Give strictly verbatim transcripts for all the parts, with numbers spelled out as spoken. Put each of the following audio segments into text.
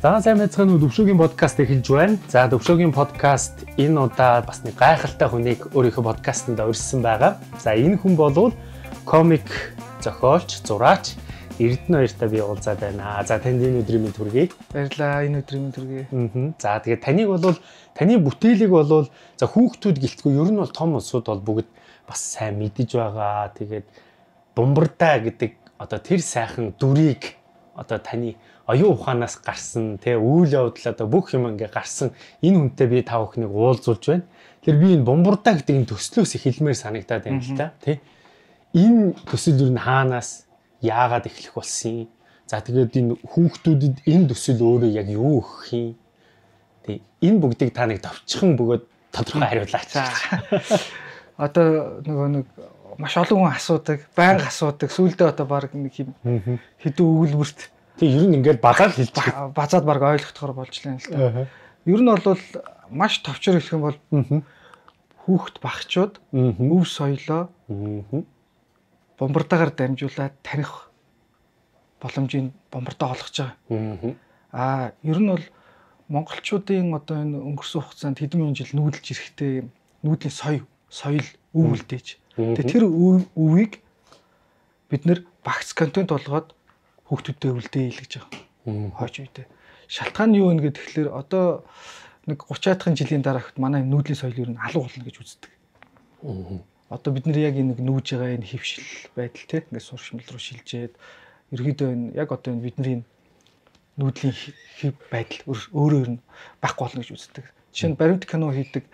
За сайн байцгаана уу, Төвшөөгийн подкаст эхэлж байна. За Төвшөөгийн подкаст энэ удаа бас нэг гайхалтай хүнийг өөрийнхөө подкастанд урьдсан байгаа. За энэ хүн бол комик зохиолч, зураач Эрдэнэ хоёртай би уулзаад байна. За танд энэ өдрийн мэнд хүргэе. Баярлалаа, энэ өдрийн мэнд хүргэе. Аа. За тэгээд таныг бол таны бүтээлийг бол за хүүхдүүд гэлтгүй ер нь бол том улсууд бол бүгд бас сайн мэдэж байгаа. Тэгээд Бумбардаа гэдэг одоо тэр сайхан дүрийг одоо таны оюун ухаанаас гарсан тий үйл явдал одоо бүх юм ингээ гарсан энэ хүнтэй би тав охиныг уулзуулж байна. Тэгэхээр би энэ Бумбардаа гэдэг энэ төслөөс эхэлмээр санагдаад байна л та тий. Энэ төсөл юу н хаанаас яагаад эхлэх болсон юм? За тэгээд энэ хүүхдүүдэд энэ төсөл өөрөө яг юу өгөх юм? Тий энэ бүгдийг та нэг товчхон бөгөөд тодорхой хариулаач. Одоо нөгөө нэг маш олон хүн асуудаг, байнга асуудаг. Сүүлдээ одоо баг нэг юм хэдэн өгүүлбэрт тий ер нь ингээд базаад хэлж базаад баг ойлгохдохоор болж лээ л та. Ер нь бол маш товчор хэлэх юм бол хүүхд багчууд өв соёлоо Бумбардаагаар дамжуулаад таних боломжийг Бумбардаа олгож байгаа. Аа ер нь бол монголчуудын одоо энэ өнгөрсөн хугацаанд хэдэн мянган жил нүүдэлж ирэхтэй нүүдлийн соёл соёл өв үлдээж. Тэгээ тэр өвийг бид нэр багц контент болгоод хүүхдүүдэд үлдээ хэлгэж байгаа. Хойч үедээ. Шалтгаан нь юу вэ гэхээр тэгэхээр одоо нэг гурван жилийн дараагт манай нүүдлийн соёл ер нь алга болно гэж үздэг. Одоо бид нэр яг энэ нүүж байгаа энэ хөвшил байдал те ингээд суршмал руу шилжээд ерөөдөө энэ яг одоо энэ бидний нүүдлийн хэв байдал өөрөө ер нь багх болно гэж үздэг. Жишээ нь баримт кино хийдэг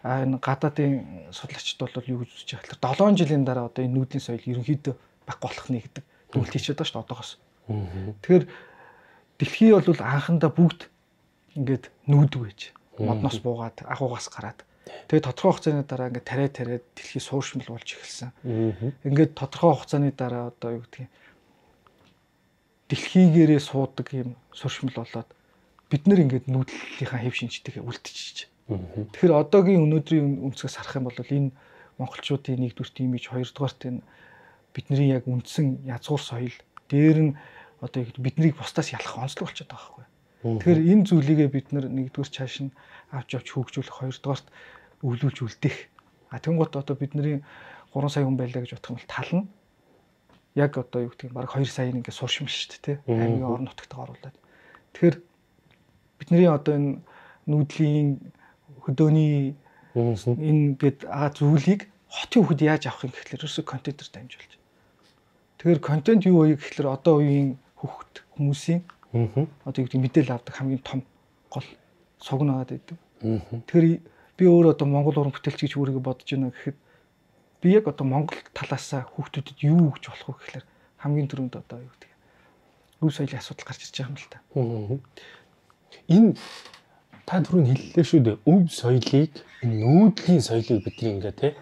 энэ гадаадын судлаачид бол юу гэж үзэж байгаа гэхээр долоон жилийн дараа одоо энэ нүүдлийн соёл ерөнхийдөө багх болох нэ гэдэг дүгнэлт хийчихэд байгаа шүү дээ одоогоос. Тэгэхээр дэлхий бол анхандаа бүгд ингээд нүүдэг байж модноос буугаад агуугаас гараад тэгээд тодорхой хугацааны дараа ингээд тариа тариад дэлхий сууршмал болж эхэлсэн. Ингээд тодорхой хугацааны дараа одоо юу гэдгийг дэлхийгээрээ суудаг юм сууршмал болоод бид нэр ингээд нүүдлийнхаа хэв шинжтэйгээ үлдчихэж. Тэгэхээр одоогийн өнөөдрийн үнцгээс харах юм бол энэ монголчуудын нэгдүгürt имиж, хоёрдугаарт энэ бидний яг үндсэн язгуур соёл дээр нь одоо биднийг бусдаас ялах онцлог болчиход байгаа байхгүй. Тэгэхээр энэ зүйлийгээ бид нэгдүгээр чааш нь авч авч хөгжүүлэх, хоёрдугаарт өвлүүлж үлдээх. А тэнгуут одоо бидний гурван сая хүн байлаа гэж бодох юм бол тал нь яг одоо юу гэдэг нь баг хоёр саяын ингээд суршмал шүү дээ, тий. Аймгийн орон нутагт оруулаад. Тэгэхээр бидний одоо энэ нүүдлийн хөдөөний энэ гээд аа зүйлийг хотын хүүхэд яаж авах юм гэхлээр ерөөсөө контентер дамжуулж. Тэгэхээр контент юу вэ гэхлээр одоо үеийн хүүхэд хүмүүсийн одоо юу гэдэг мэдээлэл авдаг хамгийн том гол цог нагаад байдаг. Тэгэхээр би өөрөө одоо Монгол уран бүтээлч гэж өөрийгөө бодож байна гэхэд би яг одоо Монгол талаасаа хүүхдүүдэд юу өгч болох вэ гэхлээр хамгийн түрүүнд одоо юу гэдэг өв соёлын асуудал гарч ирж байгаа юм л та. Энэ та түрүүнд хэллээ шүү дээ. Өв соёлыг нүүдлийн соёлыг бидний ингээ те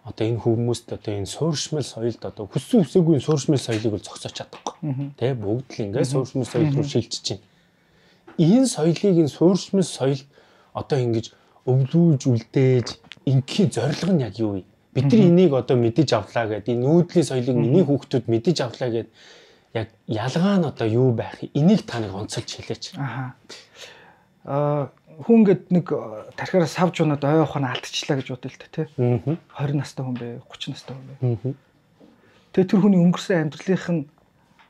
одоо энэ хүмүүст одоо энэ сууршмал соёлд одоо хүссэн хүсээгүй сууршмал соёлыг бол зогсооч чадахгүй. Тэ бүгд л ингээ сууршмал соёл руу шилжиж байна. Энэ соёлыг энэ сууршмал соёл одоо ингэж өвлүүлж үлдээж ингийн зорилго нь яг юу вэ? Бид нар энийг одоо мэдэж авлаа гэдэг энэ нүүдлийн соёлыг миний хүүхдүүд мэдэж авлаа гэдэг яг ялгаа нь одоо юу байх? Энийг та нэг онцолж хэлээч. Аа. Аа хүн гээд нэг тархиараа савж унаад ой ухаан алдчихлаа гэж бодъё л та тий. двадцать настай хүн бэ, тридцать настай хүн бэ. Тэгээ тэр хүний өнгөрсөн амьдралынх нь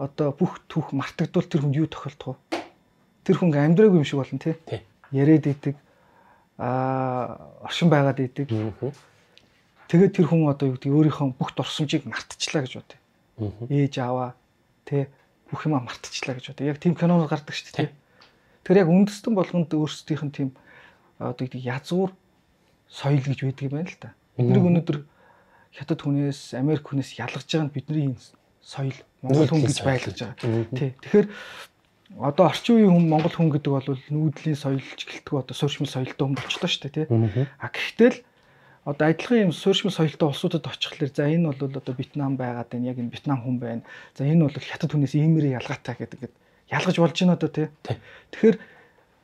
одоо бүх түүх мартагдвал тэр хүнд юу тохиолдох вэ? Тэр хүн амьдраагүй юм шиг болно тий. Яриад идэг, аа оршин байгаад идэг. Тэгээд тэр хүн одоо юу гэдэг өөрийнхөө бүх дурсамжийг мартчихлаа гэж бодъё. Ээж аваа тий бүх юма мартчихлаа гэж бодъё. Яг тийм кинонууд гардаг шүү дээ тий. Тэгэхээр яг үндэстэн болгонд өөрсдийнх нь тийм одоо гэдэг язгуур соёл гэж байдаг юм байна л да. Бидний өнөөдөр хятад хүнээс, Америк хүнээс ялгаж байгаа нь бидний энэ соёл, монгол хүн гэж байлгаж байгаа. Тий. Тэгэхээр одоо орчин үеийн хүн монгол хүн гэдэг бол нүүдлийн соёлж гэлтгүй одоо сууршмал соёлтой хүн болчихлоо шүү дээ, тий. А гэхдээ л одоо адилхан юм сууршмал соёлтой улсуудад очихлаар за энэ бол одоо Вьетнам байгаад байна, яг энэ Вьетнам хүн байна. За энэ бол хятад хүнээс иймэрхүү ялгаатай гэдэг ингээд ялгаж болж байна одоо тий. Тэгэхээр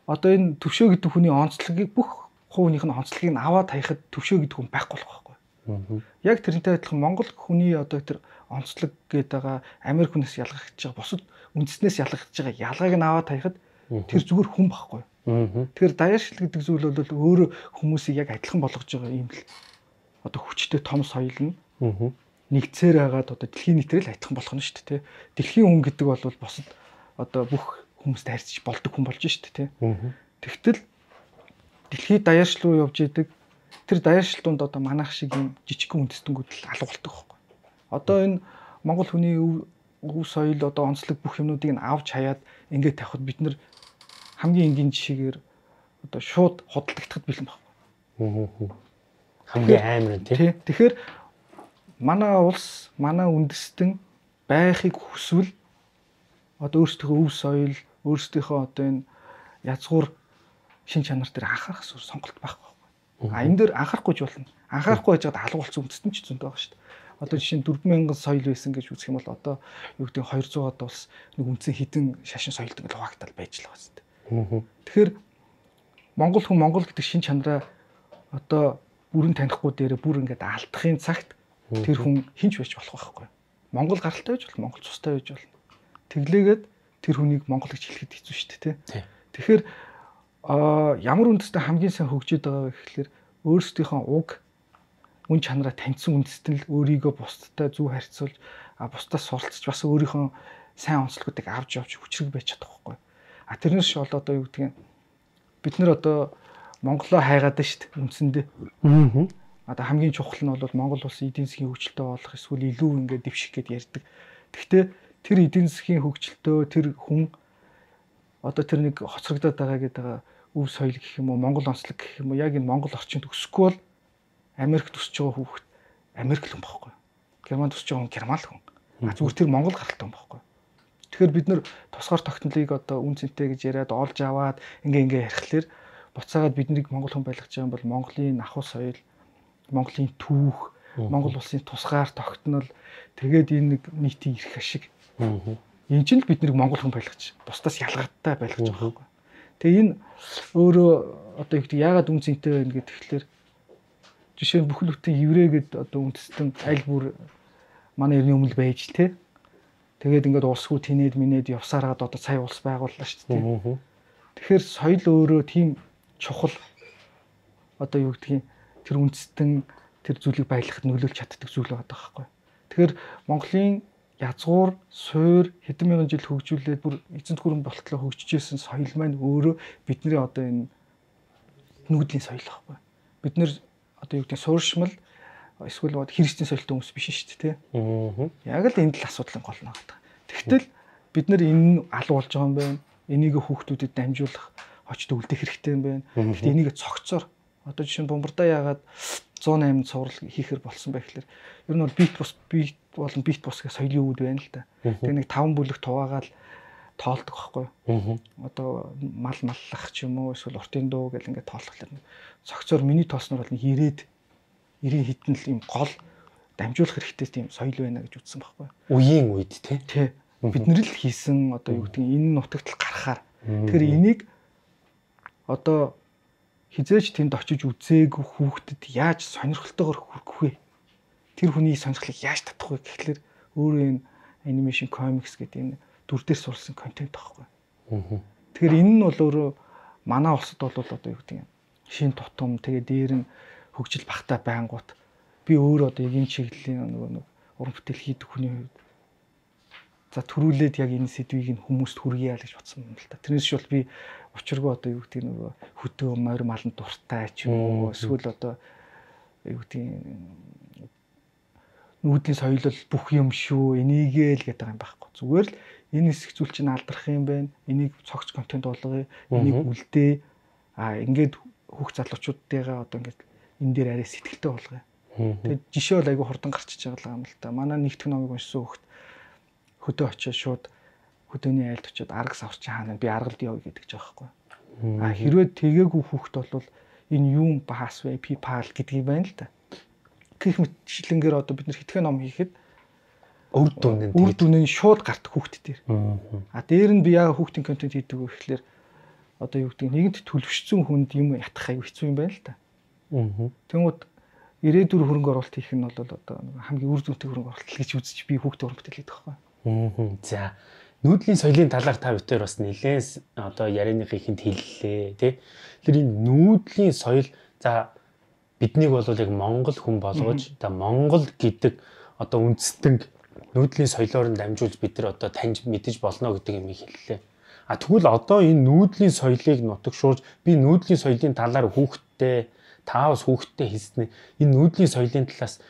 одоо энэ төвшөө гэдэг хүний онцлогийг бүх хувийнх нь онцлогийг нь аваад хаяхад төвшөө гэдэг хүн байхгүй болох байхгүй. Яг тэрнтэй адилхан монгол хүний одоо тэр онцлог гэдэг байгаа Америк хүнээс ялгах гэж байгаа бусад үндэснээс ялгах гэж байгаа ялгааг нь аваад хаяхад Тэр зүгээр хүн байхгүй. Тэгэхээр даяаршил гэдэг зүйл бол өөрөө хүмүүсийг яг адилхан болгож байгаа юм л одоо хүчтэй том соёл нь нэгцээр хагаад одоо дэлхийн нийтрэл адилхан болох нь шүү дээ. Дэлхийн хүн гэдэг бол босод одоо бүх хүмүүстэй харьцаж болдог хүн болж шүү дээ. Тэгтэл дэлхийд даяаршил руу явж идэг тэр даяаршил донд одоо манайх шиг юм жижигхэн үндэстэнүүд л алга болдог байхгүй. Одоо энэ Монгол хүний өв соёл одоо онцлог бүх юмнуудыг нь авч хаяад ингээд тавихад бид нар хамгийн энгийн жишээгээр одоо шууд худалдагдахад бэлэн байхгүй. Хамгийн амар тийм. Тэгэхээр манай улс, манай үндэстэн байхыг хүсвэл одоо өөрсдийнхөө өв соёл, өөрсдийнхөө одоо энэ язгуур шин чанар дээр анхаарах зүйл сонголт байхгүй. А энэ дээр анхаарахгүй ч болно. Анхаарахгүй байж байгаа алга болсон үндэстэн ч зөндөө байгаа шүү дээ. Одоо жишээ нь дөрвөн мянган соёл байсан гэж үзэх юм бол одоо юу гэдэг нь хоёрдугаар улс нэг үндсэн хідэн шашин соёлд ингээд хуваагдал байж л байгаа шүү дээ. Тэгэхээр Монгол хүн Монгол гэдэг шин чанараа одоо бүрэн танихгүй дээр бүр ингээд алдахын цагт тэр хүн хинч байж болох байхгүй. Монгол гаралтай байж болно, Монгол цустай байж болно. Тэглээгээд тэр хүнийг монгол гэж хэлэхэд хэцүү шүү дээ, тий. Тэгэхээр а ямар үндэстэн хамгийн сайн хөгжиж байгаа вэ гэхэлэр өөрсдийнхөө уг үн чанараа таньсан үндэстэн л өөрийгөө бусдтай зөв харьцуулж а бусдаас суралцж бас өөрийнхөө сайн онцлогуудыг авч явж хүчрэг байж чадах байхгүй. А тэрнээс бол одоо юу гэдгийг бид нар одоо Монголоо хайгаад шүү дээ үндсэндээ. Аа. Одоо хамгийн чухал нь бол Монгол улсын эдийн засгийн хөгжилтэй болох эсвэл илүү ингээд дэвших гэд ярьдаг. Гэхдээ тэр эдийн засгийн хөгжилтөө тэр хүн одоо тэр нэг хоцрогдоод байгаа гэдэг өв соёл гэх юм уу Монгол онцлог гэх юм уу яг энэ Монгол орчинд өсөхгүй бол Америкт өсөж байгаа хүүхэд Америк л хүн байхгүй. Германд өсөж байгаа хүн герман л хүн. А зүгээр тэр Монгол гаралтай хүн байхгүй. Тэгэхээр бид нэр тусгаар тогтнолыг одоо үн цэнтэй гэж яриад олж аваад ингээ ингээ ярихлаэр буцаагаад биднийг Монгол хүн байлгаж байгаа юм бол Монголын ахуй соёл, Монголын түүх, Монгол улсын тусгаар тогтнол тэгээд энэ нэг нийтийн эрх ашиг. Энэ чинь л биднийг Монгол хүн байлгаж, бусдаас ялгаатай байлгаж байгаа байхгүй. Тэгээ энэ өөрөө одоо юу гэдэг яагаад үн цэнтэй байна гэдэг тэгэхээр жишээ нь бүхэл бүтэн еврей гэдэг одоо үндэстэн аль бүр манай эртний өмнө байж тэ. Тэгээд ингээд улсгүй тинээд минээд явсараад одоо цай улс байгууллаа шүү дээ. Тэгэхээр соёл өөрөө тийм чухал одоо юу гэдгийг тэр үндэстэн тэр зүйлийг байлгахад нөлөөлж чаддаг зүйл байгаа байхгүй. Тэгэхээр Монголын язгуур, суур хэдэн мянган жил хөгжүүлээд бүр эзэнт гүрэн болтлоо хөгжижсэн соёл маань өөрөө бидний одоо энэ нүүдлийн соёл байхгүй. Бид нэр одоо юу гэдэг сууршмал эсвэл христийн соёлтой хүмүүс биш шүү дээ, тий. Яг л энэ л асуудлын гол нь байгаа. Тэгтэл бид нар энэ алуу болж байгаа юм байна. Энийг хүүхдүүдэд дамжуулах, очд үлдэх хэрэгтэй юм байна. Гэхдээ энийг цогцоор одоо жишээ нь бомбардаа яагаад зуун осем цуврал хийхэр болсон байх гэхээр ер нь бол бит бус бит болон бит бус гэх соёлын үүд байна л да. Тэгээ нэг таван бүлэг хуваагаал тоолдог байхгүй юу? Одоо мал маллах ч юм уу эсвэл уртын дуу гэл ингээд тоолхлоо. Цогцоор миний тоосноор бол ирээд ирийн хитэн л юм гол дамжуулах хэрэгтэй тийм соёл байна гэж үзсэн байхгүй юу? Үеийн үед тий. Тий. Бид нэр л хийсэн одоо юу гэдэг энэ нутагт л гарахаар. Тэгэхээр энийг одоо хизээж тэнд очиж үзээгүй хүүхдэд яаж сонирхолтойгоор хүргэх вэ? Тэр хүний сонирхлыг яаж татах вэ гэхлээр өөрөө энэ анимашн комикс гэдэг энэ дүр дээр сурсан контент байхгүй. Тэгэхээр энэ нь бол өөрөө манай улсад бол одоо юу гэдэг юм шин тутам тэгээ дээр нь хөгжил багтаа байнгут би өөр одоо эгийн чиглэлийн нөгөө нэг уран бүтээл хийдэг хүний хувьд за төрүүлээд яг энэ сэдвийг нь хүмүүст хүргье гэж бодсон юм л та. Тэрнээс ч бол би учиргүй одоо юу гэдэг нөгөө хөтөө морь малын дуртай ч юм уу эсвэл одоо юу гэдэг нүүдлийн соёл бол бүх юм шүү энийгээ л гэдэг юм байхгүй. Зүгээр л энэ хэсэг зүйл чинь алдрах юм байна. Энийг цогц контент болгоё. Энийг үлдээ. А ингээд хүүхд залуучуудтайгаа одоо ингээд энэ дээр арай сэтгэлтэй болгоё. Тэгээд жишээ бол айгүй хурдан гарчиж байгаа юм л та. Манай нэгтгэх номыг уншсан хүүхд хөдөө очиж шууд хөдөөний айлд очиод арга саварчин хаана би аргалд явъя гэдэг ч аахгүй. А хэрвээ тэгээгүй хүүхд бол энэ юм баас вэ PayPal гэдгийг байна л да. Гэх мэтчлэнгээр одоо бид нар хитгэн ном хийхэд үр дүн нь үр дүн нь шууд гардаг хүүхд дээр. А дээр нь би яа хүүхдийн контент хийдэг вэ гэхэлэр одоо юу гэдэг нэгэнт төлөвшсөн хүнд юм ятгах аюу хэцүү юм байна л да. Тэнгүүд ирээдүйн хөрөнгө оруулалт хийх нь бол одоо хамгийн үр дүнтэй хөрөнгө оруулалт гэж үзэж би хүүхдээ уран бүтээл хийдэг байхгүй. За нүүдлийн соёлын талаар та бүхэн бас нэлээд одоо ярианыхыг хүнд хэллээ тий. Тэр энэ нүүдлийн соёл за биднийг бол яг Монгол хүн болгож та Монгол гэдэг одоо үндэстэн нүүдлийн соёлоор нь дамжуулж бид нар одоо таньж мэдэж болно гэдэг юм хэллээ. А тэгвэл одоо энэ нүүдлийн соёлыг нутагшуулж би нүүдлийн соёлын талаар хүүхдтэй таавс хүүхдтэй хэлснэ. Энэ нүүдлийн соёлын талаас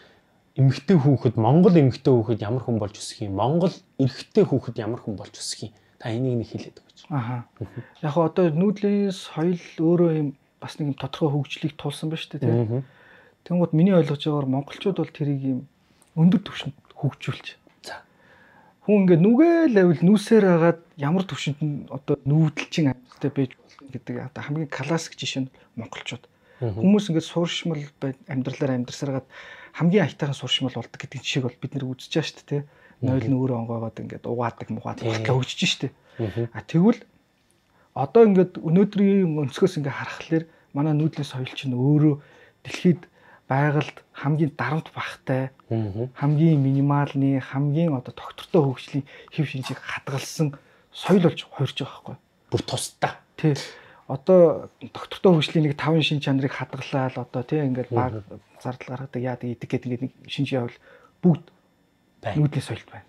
эмэгтэй хүүхэд Монгол эмэгтэй хүүхэд ямар хүн болж өсөх юм? Монгол эрэгтэй хүүхэд ямар хүн болж өсөх юм? Та энийг нэг хэлээд өгөөч. Аха. Яг одоо нүүдлийн соёл өөрөө юм бас нэг юм тодорхой хөгжлийг тулсан ба шүү дээ тийм. Тэнгууд миний ойлгож байгаагаар монголчууд бол тэрийг юм өндөр түвшинд хөгжүүлж. За. Хүн ингээд нүгээл авил нүүсээр хагаад ямар түвшинд нь одоо нүүдэлчин амьттай байж болно гэдэг одоо хамгийн классик жишээ нь монголчууд. Хүмүүс ингээд сууршмал амьдралаар амьдрсараад хамгийн аятайхан сууршмал болдог гэдэг жишээг бол бид нэр үзэж байгаа шүү дээ тийм. Нойл нүүрээ онгоогоод ингээд угаадаг муугаад болтлоо хөгжиж шүү дээ. А тэгвэл одоо ингээд өнөөдрийн өнцгөөс ингээд харахад манай нүүдлийн соёл чинь өөрөө дэлхийд байгальд хамгийн дарамт багтай, хамгийн минималны, хамгийн одоо тогтвортой хөгжлийн хэв шинжийг хадгалсан соёл болж хуурж байгаа байхгүй. Бүр тусдаа. Тий. Одоо доктортой хөгжлийн нэг таван шин чанарыг хадгалаад одоо тий ингээд баг зардал гаргадаг яадаг идэг гэдэг ингээд нэг шинж явал бүгд нүүдлийн соёлт байна.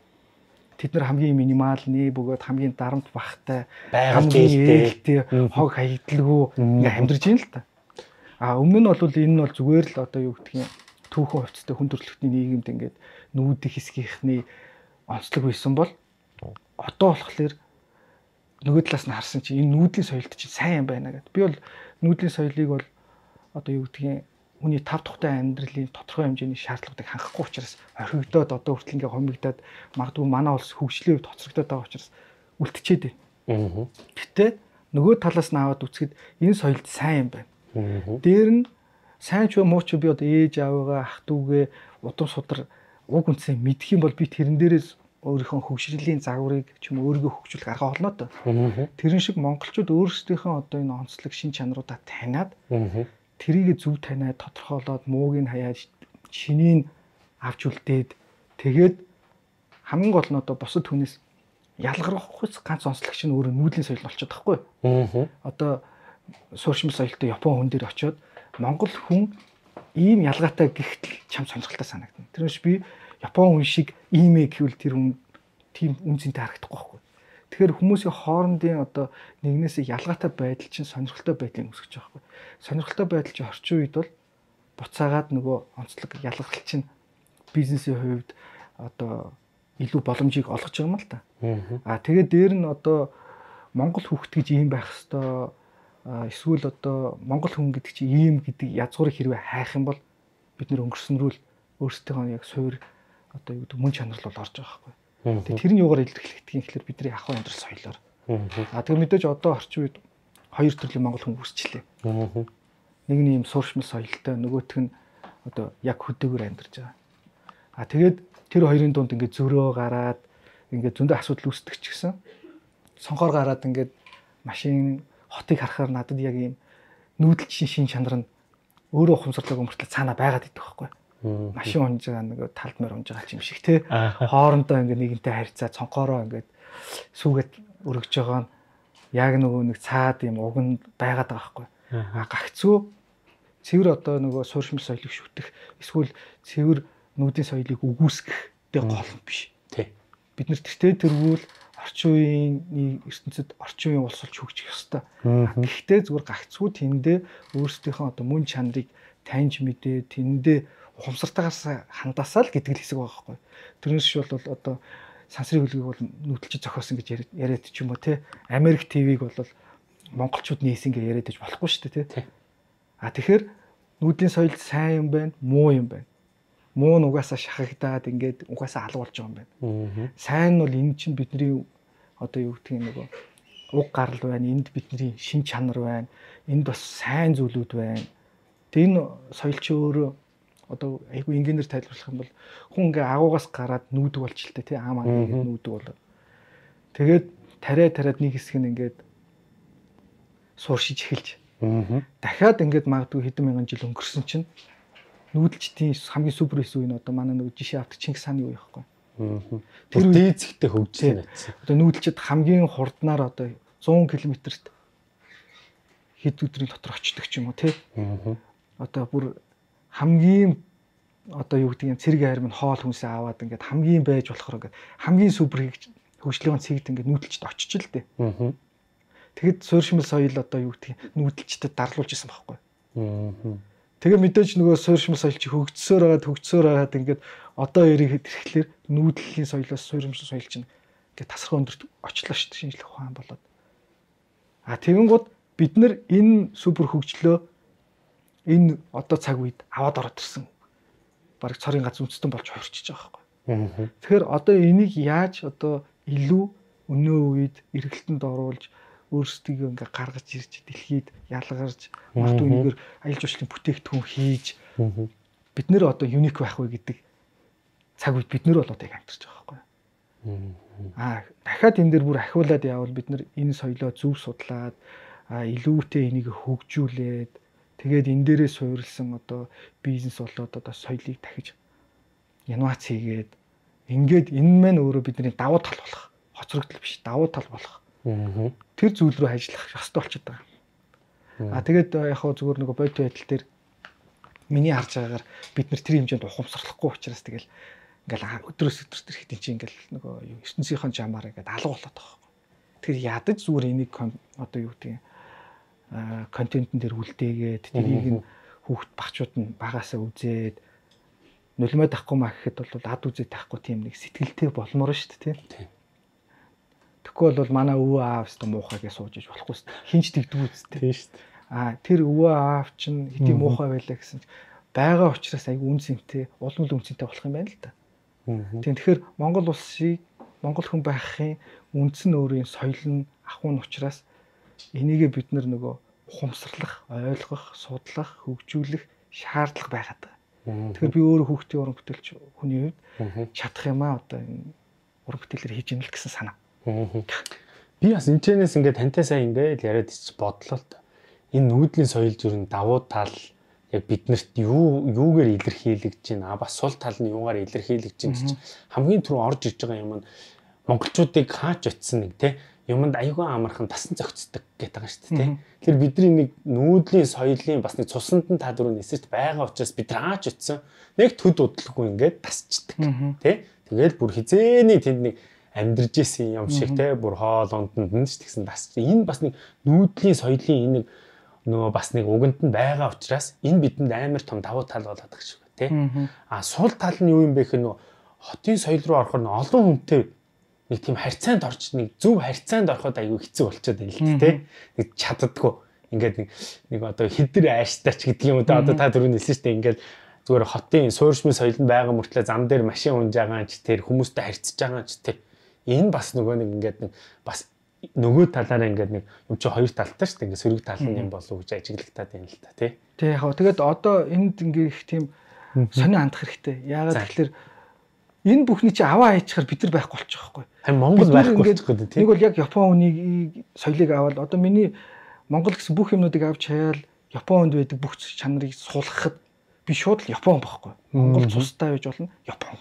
Тэд нар хамгийн минималны бөгөөд хамгийн дарамт багтай, хамгийн ээлтэй, хог хаягдлаггүй ингээд амьдарч байна л та. А өмнө нь бол энэ нь бол зүгээр л одоо юу гэдгийг түүхэн хувцастай хүн төрөлхтний нийгэмд ингээд нүүдийн хэсгийнхний онцлог байсан бол одоо болохоор нөгөө талаас нь харсан чинь энэ нүүдлийн соёлт чинь сайн юм байна гэдэг. Би бол нүүдлийн соёлыг бол одоо юу гэдгийг хүний тав тухтай амьдралын тодорхой хэмжээний шаардлагуудыг хангахгүй учраас орхигдоод одоо хүртэл ингээ хомигдоод магадгүй манай улс хөгжлийн үед тоцрогдоод байгаа учраас үлдчихэд байна. Гэтэ нөгөө талаас нь аваад үзэхэд энэ соёлт сайн юм байна. Дээр нь сайн ч муу ч би одоо ээж аавгаа ах дүүгээ удам судар уг үнцээ мэдэх юм бол би тэрэн дээрээс өөрийнхөө хөгжлийн загварыг ч юм өөрийгөө хөгжүүлэх арга олно то. Тэрэн шиг монголчууд өөрсдийнхөө одоо энэ онцлог шин чанаруудаа таниад тэрийг зөв таниад тодорхойлоод мууг нь хаяад шинийг авч үлдээд тэгээд хамгийн гол нь одоо бусад хүнээс ялгархуйц ганц онцлог чинь өөрөө нүүдлийн соёл болчиход байхгүй. Одоо сууршмал соёлтой Япон хүн дээр очиод монгол хүн ийм ялгаатай гихтэл чам сонирхолтой санагдана. Тэрнээс би Япон хүн шиг ийм ээ гэвэл тэр хүн тийм үнцэнтэй харагдахгүй байхгүй. Тэгэхээр хүмүүсийн хоорондын одоо нэгнээсээ ялгаатай байдал чинь сонирхолтой байдлыг үүсгэж байгаа байхгүй. Сонирхолтой байдал чинь орчин үед бол буцаагаад нөгөө онцлог ялгарл чинь бизнесийн хувьд одоо илүү боломжийг олгож байгаа юм л та. Аа тэгээд дээр нь одоо монгол хүүхэд гэж ийм байх хэвээр эсвэл одоо монгол хүн гэдэг чинь ийм гэдэг язгуурыг хэрвээ хайх юм бол бид нэр өнгөрснөрүүл өөрсдийнхөө яг суур одоо юу гэдэг мөн чанар л бол орж байгаа байхгүй. Тэгээ тэрний юугаар илэрхийлэгдэх юм гэхэлэр бидний ахуй амьдрал соёлоор. А тэгээ мэдээж одоо орчин үед хоёр төрлийн монгол хүн үүсчихлээ. Нэг нь ийм сууршмал соёлтой, нөгөөх нь одоо яг хөдөөгөр амьдарч байгаа. А тэгээд тэр хоёрын дунд ингээд зөрөө гараад ингээд зөндөө асуудал үүсдэг ч гэсэн сонхоор гараад ингээд машин хотыг харахаар надад яг ийм нүүдэлчин шин чанар нь өөрөө ухамсарлаг өмөртлөө цаана байгаад идэх байхгүй. Машин унж байгаа нэг талд мөр унж байгаа юм шиг те. Хоорондоо ингээд нэгэнтэй харьцаа цонхоороо ингээд сүүгээд өргөж байгаа нь яг нөгөө нэг цаад юм уг нь байгаад байгаа байхгүй. А гагцгүй цэвэр одоо нөгөө сууршмал соёлыг шүтэх эсвэл цэвэр нүүдийн соёлыг үгүйсгэхтэй гол биш. Тий. Бид нэр тэртээ тэргүүл орчин үеийн ертөнцид орчин үеийн улс олж хөгжих ёстой. Гэхдээ зүгээр гагцгүй тэндээ өөрсдийнхөө одоо мөн чанарыг таньж мэдээ тэндээ ухамсартайгаас хандаасаа л гэдэг л хэсэг байгаа байхгүй. Тэрнээс ч бол одоо сансрын хөлгийг бол нүүдэлч зохиосон гэж яриад ч юм уу те. Америк ТV-г бол монголчууд нээсэн гэж яриад иж болохгүй шүү дээ те. А тэгэхээр нүүдлийн соёл сайн юм байна, муу юм байна. Муу нь угаасаа шахагдаад ингээд угаасаа алга болж байгаа юм байна. Сайн нь бол энэ чинь бидний одоо юу гэдгийг нөгөө уг гарал байна. Энд бидний шин чанар байна. Энд бас сайн зүйлүүд байна. Тэг энэ соёл чи өөрөө одоо айгүй инженеэр тайлбарлах юм бол хүн ингээ агуугаас гараад нүүдэг болчихлоо тий аамаа ингээд нүүдэг болоо. Тэгээд тариа тариад нэг хэсэг нь ингээд сууршиж эхэлж. Дахиад ингээд магадгүй хэдэн мянган жил өнгөрсөн чинь нүүдэлчдийн хамгийн супер эс үе нь одоо манай нөгөө жишээ авдаг Чингис хааны үе байхгүй. Тэр дээцэгтэй хөгжсөн атсан. Одоо нүүдэлчд хамгийн хурднаар одоо зуун км-т хэд өдрийн дотор очдог ч юм уу тий. Одоо бүр хамгийн одоо юу гэдэг юм цэрэг хайр минь хоол хүнсээ аваад ингээд хамгийн байж болохоор ингээд хамгийн супер хөгжлөөн цэгт ингээд нүүдэлчд очиж л дээ. Тэгэд суурьшмал соёл одоо юу гэдэг нүүдэлчдэд дарлуулж исэн байхгүй. Тэгээ мэдээж нөгөө суурьшмал соёл чи хөгжсөөр байгаад хөгжсөөр байгаад ингээд одоо яриг ирэхлээр нүүдлийн соёлоос суурьшмал соёл чинь ингээд тасархаа өндөрт очлоо шүү дээ шинжлэх ухаан болоод. А тэгэнгუთ бид нар энэ супер хөгжлөө энэ одоо цаг үед аваад ороод ирсэн. Бараг цорын гац үндэстэн болж хувирчиж байгаа байхгүй. Тэгэхээр одоо энийг яаж одоо илүү өнөө үед эргэлтэнд оруулж өөрсдийгөө ингээ гаргаж ирж дэлхийд ялгарч магадгүй нэгээр аялал жуулчлалын бүтээгдэхүүн хийж бид нэр одоо юник байх вэ гэдэг цаг үед бид нэр бол одоо яг амьдарч байгаа байхгүй. Аа дахиад энэ дээр бүр ахиулаад явбал бид нар энэ соёлоо зөв судлаад илүүтэй энийг хөгжүүлээд тэгээд энэ дээрээ суурилсан одоо бизнес болоод одоо соёлыг дахиж инновац хийгээд ингээд энэ мань өөрөө бидний давуу тал болох хоцрогдол биш давуу тал болох тэр зүйл рүү ажиллах ёстой болчиход байгаа. А тэгээд яг хөө зүгээр нэг бодит байдал дээр миний харж байгаагаар бид нар тэр хэмжээнд ухамсарлахгүй учраас тэгэл ингээл өдрөөс өдөрт ирэхэд чинь ингээл нөгөө юу ертөнцийнхэн жамаар ингээд алга болоод байгаа юм. Тэгэхээр ядаж зүгээр энийг одоо юу гэдэг контентын дээр үлдээгээд тэрийг нь хүүхд багчууд нь багасаа үзээд нулимаа тахгүй маа гэхэд бол ад үзээ тахгүй тийм нэг сэтгэлтэй болмоор шүү дээ тийм. Тэгэхгүй бол манай өвөө аав өстө муухай гэж сууж иж болохгүй шүү дээ. Хинч тэгдэггүй үстэй. Тийм шүү дээ. Аа тэр өвөө аав чинь хэдий муухай байлаа гэсэн чинь байгаа учраас айгүй үнцэнтэй, улам л үнцэнтэй болох юм байна л да. Тийм тэгэхээр Монгол улсыг Монгол хүн байхын үндэс нь өөрийн соёл нь ахуйн учраас энийгээ бид нар нөгөө ухамсарлах, ойлгох, судлах, хөгжүүлэх шаардлага байгаад байгаа. Тэгэхээр би өөрөө хүүхдийн уран бүтээлч хүний хувьд чадах юм аа одоо энэ уран бүтээлээр хийж ийн л гэсэн санаа. Би бас энэ чэнэс ингээд тантай сайн ингээд яриад ич бодлоо л та. Энэ нүүдлийн соёл зүрх нь давуу тал яг биднэрт юу юугаар илэрхийлэгдэж байна. А бас сул тал нь юугаар илэрхийлэгдэж байна чинь хамгийн түрүү орж иж байгаа юм нь монголчуудыг хаач очсон нэг те юмд аюугаа амархан тасан зохицдог гэдэг байгаа шүү дээ. Тэгэхээр бидний нэг нүүдлийн соёлын бас нэг цусанд нь та дөрөв нисэж байгаа учраас бид хаач очсон нэг төд удлахгүй ингээд тасчдаг тий. Тэгэл бүр хизээний тэнд нэг амьдарч исэн юм шиг тий бүр хоол унданд нь ч тэгсэн тасч. Энэ бас нэг нүүдлийн соёлын энэ нэг нөгөө бас нэг уганд нь байгаа учраас энэ бидэнд амар том давуу тал болоод байгаа шүү тий. А сул тал нь юу юм бэ гэхээр нөгөө хотын соёл руу орохоор олон хүнтэй нэг тийм харьцаанд орч нэг зөв харьцаанд ороход айгүй хэцүү болчиход байна л дээ тий. Нэг чаддаггүй. Ингээд нэг нэг одоо хэдэр ааштай ч гэдэг юм уу да одоо та дөрөв нэлсэн штэ ингээд зүгээр хотын суурьшмын соёл нь байгаа мөртлөө зам дээр машин унж байгаа ч тэр хүмүүстэй харьцаж байгаа ч тэр энэ бас нөгөө нэг ингээд нэг бас нөгөө талаараа ингээд нэг юм чи хоёр талтай штэ ингээд сөрөг тал нь юм болов уу гэж ажиглагтаад байна л та тий. Тий яг тэгээд одоо энд ингээд их тийм сонио хандах хэрэгтэй. Яагаад тэгэхээр энэ бүхний чи аваа хайчихаар бид нар байхгүй болчих واخгүй. Харин Монгол байхгүй болчихгүй тийм. Нэг бол яг Япон хүнийг соёлыг аваад одоо миний Монгол гэсэн бүх юмнуудыг авч хаяал Япон хүнд байдаг бүх чанарыг суулгахад би шууд л Япон байхгүй. Монгол цустай байж болно Япон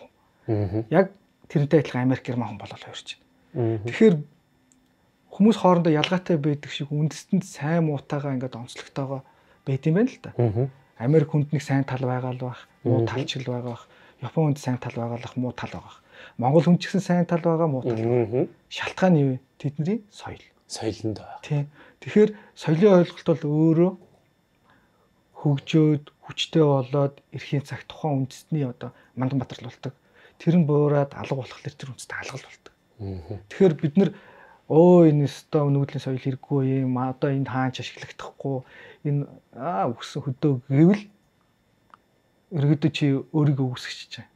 хүн. Яг тэрнтэй адилхан Америк герман хүн болол хувирч байна. Тэгэхээр хүмүүс хоорондоо ялгаатай байдаг шиг үндэстэнд сайн муутайгаа ингээд онцлогтойгоо байд юм байна л да. Америк хүнд нэг сайн тал байгаа л байх, муу тал ч л байгаа байх. Япон хүнд сайн тал байгаалах муу тал байгаа. Монгол хүн ч гэсэн сайн тал байгаа муу тал. Шалтгаан нь юу вэ? Тэдний соёл. Соёлонд байгаа. Тийм. Тэгэхээр соёлын ойлголт бол өөрөө хөгжөөд хүчтэй болоод эрхийн цаг тухайн үндэстний одоо мандан батралуулдаг. Тэр нь буураад алга болохоор тэр үндэстэй алгал болдог. Тэгэхээр бид нар өө энэ өстой нүүдлийн соёл хэрэггүй юм. Одоо энэ хаач ашиглагдахгүй. Энэ аа үгсэн хөдөө гэвэл өргөдөө чи өөрийгөө үүсгэж чинь.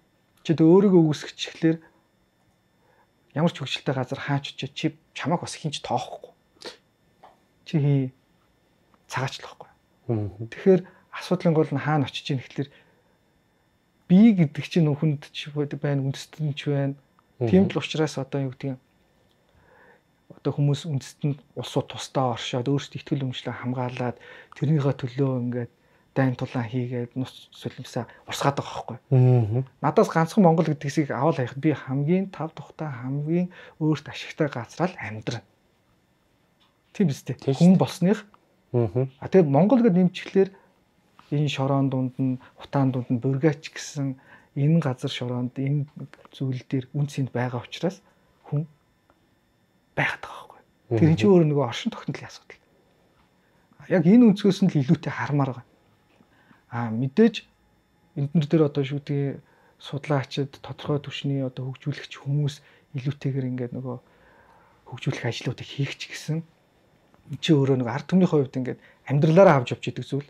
Чи тэ өөрийгөө үүсгэчихлээр ямар ч хөвгчлөлтэй газар хаач чи чи чамааг бас хинч тоохгүй. Чи цагаачлахгүй. Тэгэхээр асуудлын гол нь хаана очиж ийн гэхэлэр би гэдэг чинь хүнд ч байна, үндэстэн ч байна. Тийм л учраас одоо юу гэдэг юм. Одоо хүмүүс үндэстэнд улсууд тусдаа оршоод өөрсдөө ихтгэл өмчлөө хамгаалаад тэрнийхээ төлөө ингээд дайн тулаан хийгээд нус солимсаа урсгаад байгаа байхгүй. Надаас ганцхан Монгол гэдгийг аваад хайх би хамгийн тав тухтай хамгийн өөрт ашигтай газраа л амьдрна. Тийм биз дээ. Хүн болсных. А тэгээд Монгол гэдэг нэмчихлээр энэ шорон дунд нь, утаан дунд нь бургач гэсэн энэ газар шороонд энэ зүйл дээр үнцэнд байгаа учраас хүн байгаад байгаа байхгүй. Тэр энэ чинь өөр нэг оршин тогтнолын асуудал. Яг энэ өнцгөөс нь л илүүтэй хармаар байгаа. А мэдээж энднэр дээр одоо шүү дээ судлаачид тодорхой түвшний одоо хөгжүүлэгч хүмүүс илүүтэйгээр ингээд нөгөө хөгжүүлэх ажлуудыг хийх ч гэсэн энэ чи өөрөө нэг ард түмний хувьд ингээд амьдралаараа авч явж идэг зүйл.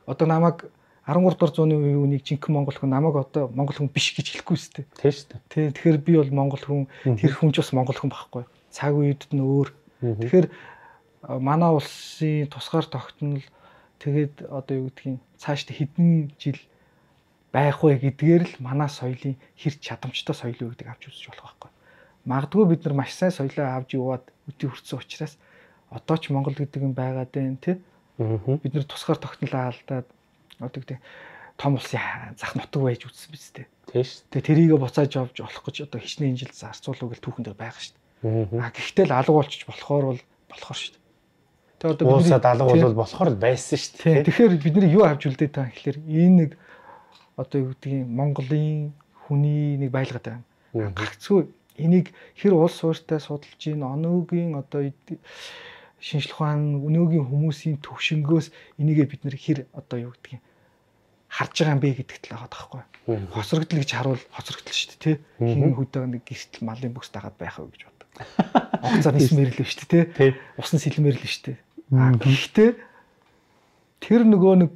Одоо намайг арван гурав дугаар зууны үеийн жинхэнэ монгол хүн намайг одоо монгол хүн биш гэж хэлэхгүй шүү дээ. Тийм шүү дээ. Тий, тэгэхээр би бол монгол хүн, тэр хүн ч бас монгол хүн байхгүй. Цаг үед нь өөр. Тэгэхээр манай улсын тусгаар тогтнол тэгээд одоо юу гэдгийг цаашдаа хэдэн жил байх вэ гэдгээр л манай соёлын хэр чадамжтай соёл үү гэдэг авч үзэж болох байхгүй. Магадгүй бид нар маш сайн соёлоо авч яваад үтий хүрсэн учраас одоо ч Монгол гэдэг юм байгаад байна тий. Бид нар тусгаар тогтнолоо алдаад одоо гэдэг том улсын зах нутаг байж үзсэн биз дээ. Тийм шүү. Тэгээ тэрийгэ буцааж авч болох гэж одоо хичнээн жил зарцуулах гэл түүхэн дээр байгаа шүү дээ. А гэхдээ л алга болчих болохоор бол болохоор шүү дээ. Тэгээ одоо уусаад алга бол болохоор л байсан шүү дээ. Тэгэхээр бид нар юу авч үлдээ таа гэхэлэр энэ нэг одоо юу гэдгийг Монголын хүний нэг байлгаад байна. Гагцгүй энийг хэр улс суурьтай судалж ийн оноогийн одоо шинжлэх ухаан өнөөгийн хүмүүсийн төвшнгөөс энийгээ бид нэр хэр одоо юу гэдгийг харж байгаа юм бэ гэдэгт л байгаа байхгүй. Хоцрогдол гэж харуул хоцрогдол шүү дээ тий. Хин хөдөө нэг гэртэл малын бүс дагаад байх уу гэж боддог. Онгоцоор нисмэр л шүү дээ тий. Усан сэлмэр л шүү дээ. А гэхдээ тэр нөгөө нэг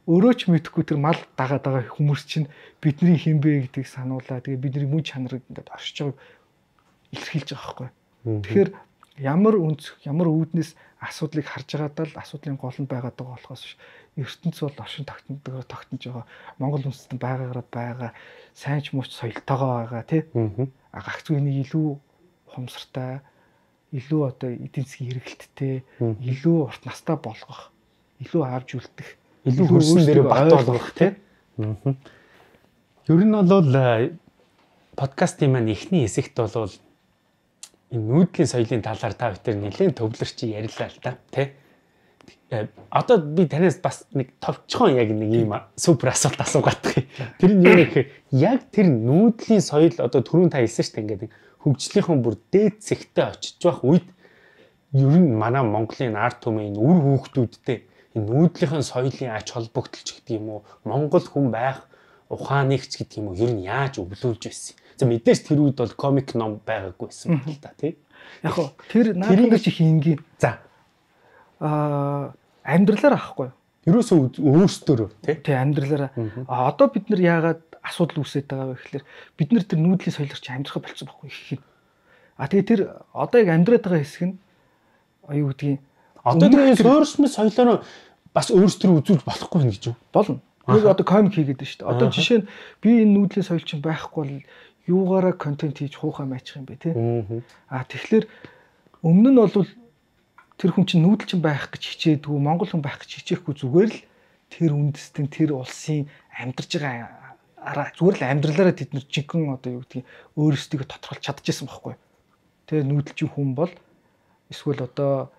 өөрөө ч мэдэхгүй тэр мал дагаад байгаа хүмүүс чинь бидний хин бэ гэдгийг сануулаа. Тэгээ бидний мөн чанарыг ингээд оршиж байгааг илэрхийлж байгаа байхгүй. Тэгэхээр ямар үнц ямар үүднээс асуудлыг харж байгаадаа л асуудлын гол нь байгаад байгаа болохоос ертөнц бол оршин тогтнодгоор тогтнож байгаа. Монгол үндэстэн байгаагаараа байгаа сайн ч мууч соёлтойгоо байгаа тий. А гагцгүй нэг илүү хумсартай, илүү одоо эдийн засгийн хэрэгэлттэй, илүү урт настай болгох, илүү авж үлдэх, илүү хөрсөн дээр бат болгох тий. Ер нь бол подкастын маань эхний хэсэгт бол энэ нүүдлийн соёлын талаар та бүхэн нэлээд төвлөрч ярилаа л та тий. Одоо би танаас бас нэг товчхон яг нэг юм супер асуулт асуугаад байгаа. Тэр нь юу гэхээр яг тэр нүүдлийн соёл одоо түрүүн та хэлсэн шүү дээ ингээд хөгжлийнхэн бүр дээд зэгтээ очиж байх үед ер нь манай Монголын ард түмэн үр хүүхдүүдтэй энэ нүүдлийнхэн соёлын ач холбогдолч гэдэг юм уу Монгол хүн байх ухааныг ч гэдэг юм уу ер нь яаж өвлүүлж байсан. За мэдээж тэр үед бол комик ном байгаагүй байсан байна л да тий. Яг хоо тэр наадмын чи хийнгийн. За аа амьдралаар авахгүй. Ерөөсөө өөрсдөө тий. Тий амьдралаар. А одоо бид нар яагаад асуудал үүсээд байгаа вэ гэхээр бид нар тэр нүүдлийн соёлоор чи амьдрахаа болцсон байхгүй их юм. А тэгээ тэр одоо яг амьдраад байгаа хэсэг нь юу гэдгийг одоо тэр суурьшмын соёлоор бас өөрсдөө үзүүлж болохгүй юм гэж юу? Болно. Нэг одоо комик хийгээд байна шүү дээ. Одоо жишээ нь би энэ нүүдлийн соёл чинь байхгүй бол юугаараа контент хийж хуухаа майчих юм бэ тий. А тэгэхээр өмнө нь бол тэр хүн чинь нүүдэл чинь байх гэж хичээдгүй, Монгол хүн байх гэж хичээхгүй зүгээр л тэр үндэстэн тэр улсын амьдарч байгаа араа зүгээр л амьдралаараа тэд нар жинхэнэ одоо юу гэдгийг өөрсдөө тодорхойлж чадчихсан байхгүй. Тэгээ нүүдэлчин хүн бол эсвэл одоо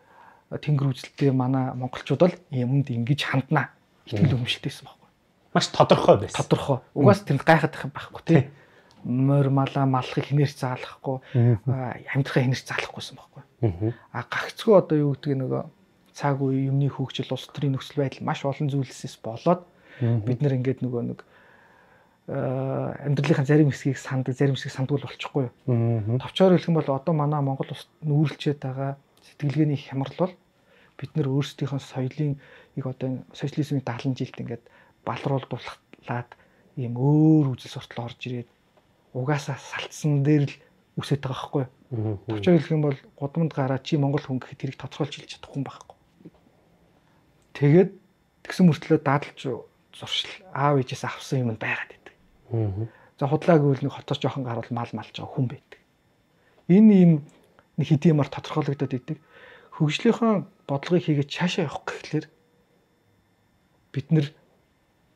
тэнгэр үзэлтэй манай монголчууд бол юмд ингэж ханднаа итгэл өмшөлтэйсэн байхгүй. Маш тодорхой байсан. Тодорхой. Угаас тэр гайхаад байх юм байхгүй тий. Морь малаа малахыг хинээрч заалахгүй, амьдрахаа хинээрч заалахгүйсэн байхгүй. А гагцгүй одоо юу гэдгийг нөгөө цаг үе юмны хөгжил улс төрийн нөхцөл байдал маш олон зүйлсээс болоод бид нэр ингээд нөгөө нэг амьдралынхаа зарим хэсгийг санд зарим хэсгийг сандгүй болчихгүй юу. Товчоор хэлэх юм бол одоо манай Монгол улсад нүүрлчээд байгаа сэтгэлгээний хямрал бол бид нэр өөрсдийнхөө соёлын яг одоо социализмын дагалан жилд ингээд балруулуулаад ийм өөр үзэл суртал орж ирээд угаасаа салцсан дээр л үсэж байгаа байхгүй юу. Товчоор хэлэх юм бол гудамд гараа чи Монгол хүн гэхэд тэрийг тодорхойлж хэлж чадахгүй юм байхгүй. Тэгээд тэгсэн мөртлөө дадлж зуршил аав ээжээс авсан юм байгаад байдаг. За худлаа гэвэл нэг хотоос жоохон гарвал мал малж байгаа хүн байдаг. Энэ юм нэг хэдийн юмар тодорхойлогдоод идэг. Хөгжлийнхөө бодлогыг хийгээд цаашаа явах гэхлээр бид нэр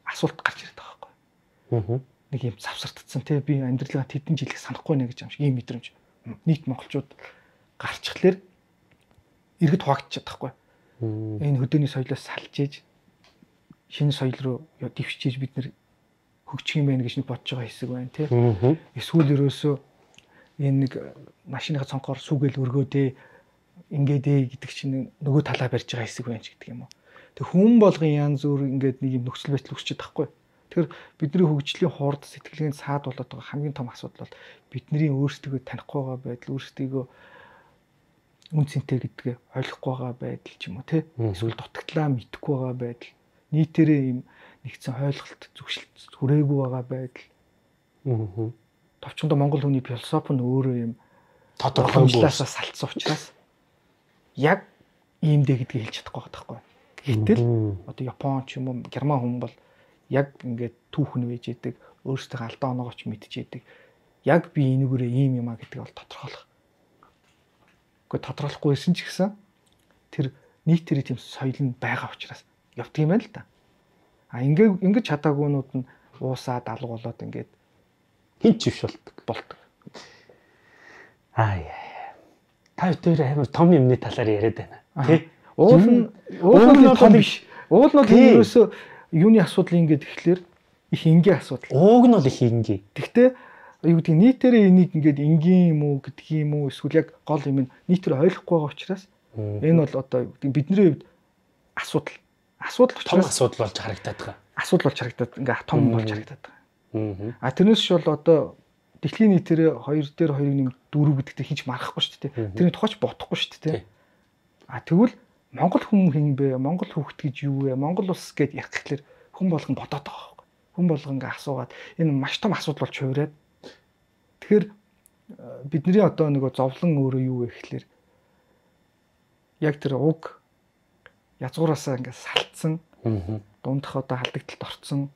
асуулт гарч ирээд байгаа байхгүй. Нэг юм завсардсан те би амьдралаа тэдэн жилиг санахгүй нэ гэж юм шиг ийм мэдрэмж. Нийт монголчууд гарчхлаар иргэд хуваагдчихад байхгүй. Энэ хөдөөний соёлоос салж ээж шинэ соёл руу дэвшиж бид нэр хөгжих юм байна гэж нэг бодож байгаа хэсэг байна те. Эсвэл ерөөсөө энэ нэг машиныхаа цонхоор сүгээл өргөөдөө ингээд гэдэг чинь нөгөө талаа барьж байгаа хэсэг байна ч гэдэг юм уу. Тэг хүн болгон янз бүр ингээд нэг юм нөхцөл байдал үүсчихэд байхгүй. Тэгэхээр бидний хөгжлийн хурд сэтгэлгээний саад болоод байгаа хамгийн том асуудал бол бидний өөрсдөө танихгүй байгаа байдал, өөрсдөө үн цэнтэй гэдгээ ойлгохгүй байгаа байдал ч юм уу те. Эсвэл дутагдлаа мэдэхгүй байгаа байдал, нийтээрээ юм нэгдсэн ойлголт зөвшөлт хүрээгүй байгаа байдал. Аа. Товчондоо монгол хүний философи нь өөрөө юм тодорхойлолоос салцсан учраас яг ийм дээ гэдгийг хэлж чадахгүй байгаа байхгүй. Гэтэл одоо Япон ч юм уу Герман хүн бол яг ингээд түүхэн вэж идэг, өөрсдөө алдаа оноогоо ч мэдчихэдэг. Яг би энэгээрээ ийм юм а гэдгийг бол тодорхойлох. Гэхдээ тодорхойлохгүйсэн ч гэсэн тэр нийтээрээ тийм соёл нь байгаа учраас явдаг юм байна л да. А ингээд ингэж чадаагүйнууд нь уусаад алга болоод ингээд хин ч ивш болдог. Аа яа. Та хоёр амар том юмны талаар яриад байна. Тэ? Уул нь уул нь том биш. Уул нь ерөөсөө юуны асуудал ингээд ихлээр их энгийн асуудал. Ууг нь бол их энгийн. Гэхдээ юу гэдэг нийтээрээ энийг ингээд энгийн юм уу гэдэг юм уу эсвэл яг гол юм нийтээр ойлгохгүй байгаа учраас энэ бол одоо бидний хувьд асуудал. Асуудал том асуудал болж харагдаад байгаа. Асуудал болж харагдаад ингээд том болж харагдаад байгаа. А тэрнээс ч бол одоо дэлхийн нийтээр хоёр дээр хоёрын нэм дөрөв гэдэгт хийж марахгүй шүү дээ. Тэрний тухайч бодохгүй шүү дээ. А тэгвэл Монгол хүн хин бэ? Монгол хүүхэд гэж юу вэ? Монгол улс гэд ярих гэхэлэр хүн болгон бодоод байгаа байхгүй. Хүн болгон ингээ асуугаад энэ маш том асуудал болж хуураад. Тэгэхээр бидний одоо нөгөө зовлон өөрөө юу вэ гэхэлэр яг тэр уг язгуураасаа ингээ салтсан. Дундах одоо халдагталд орцсон.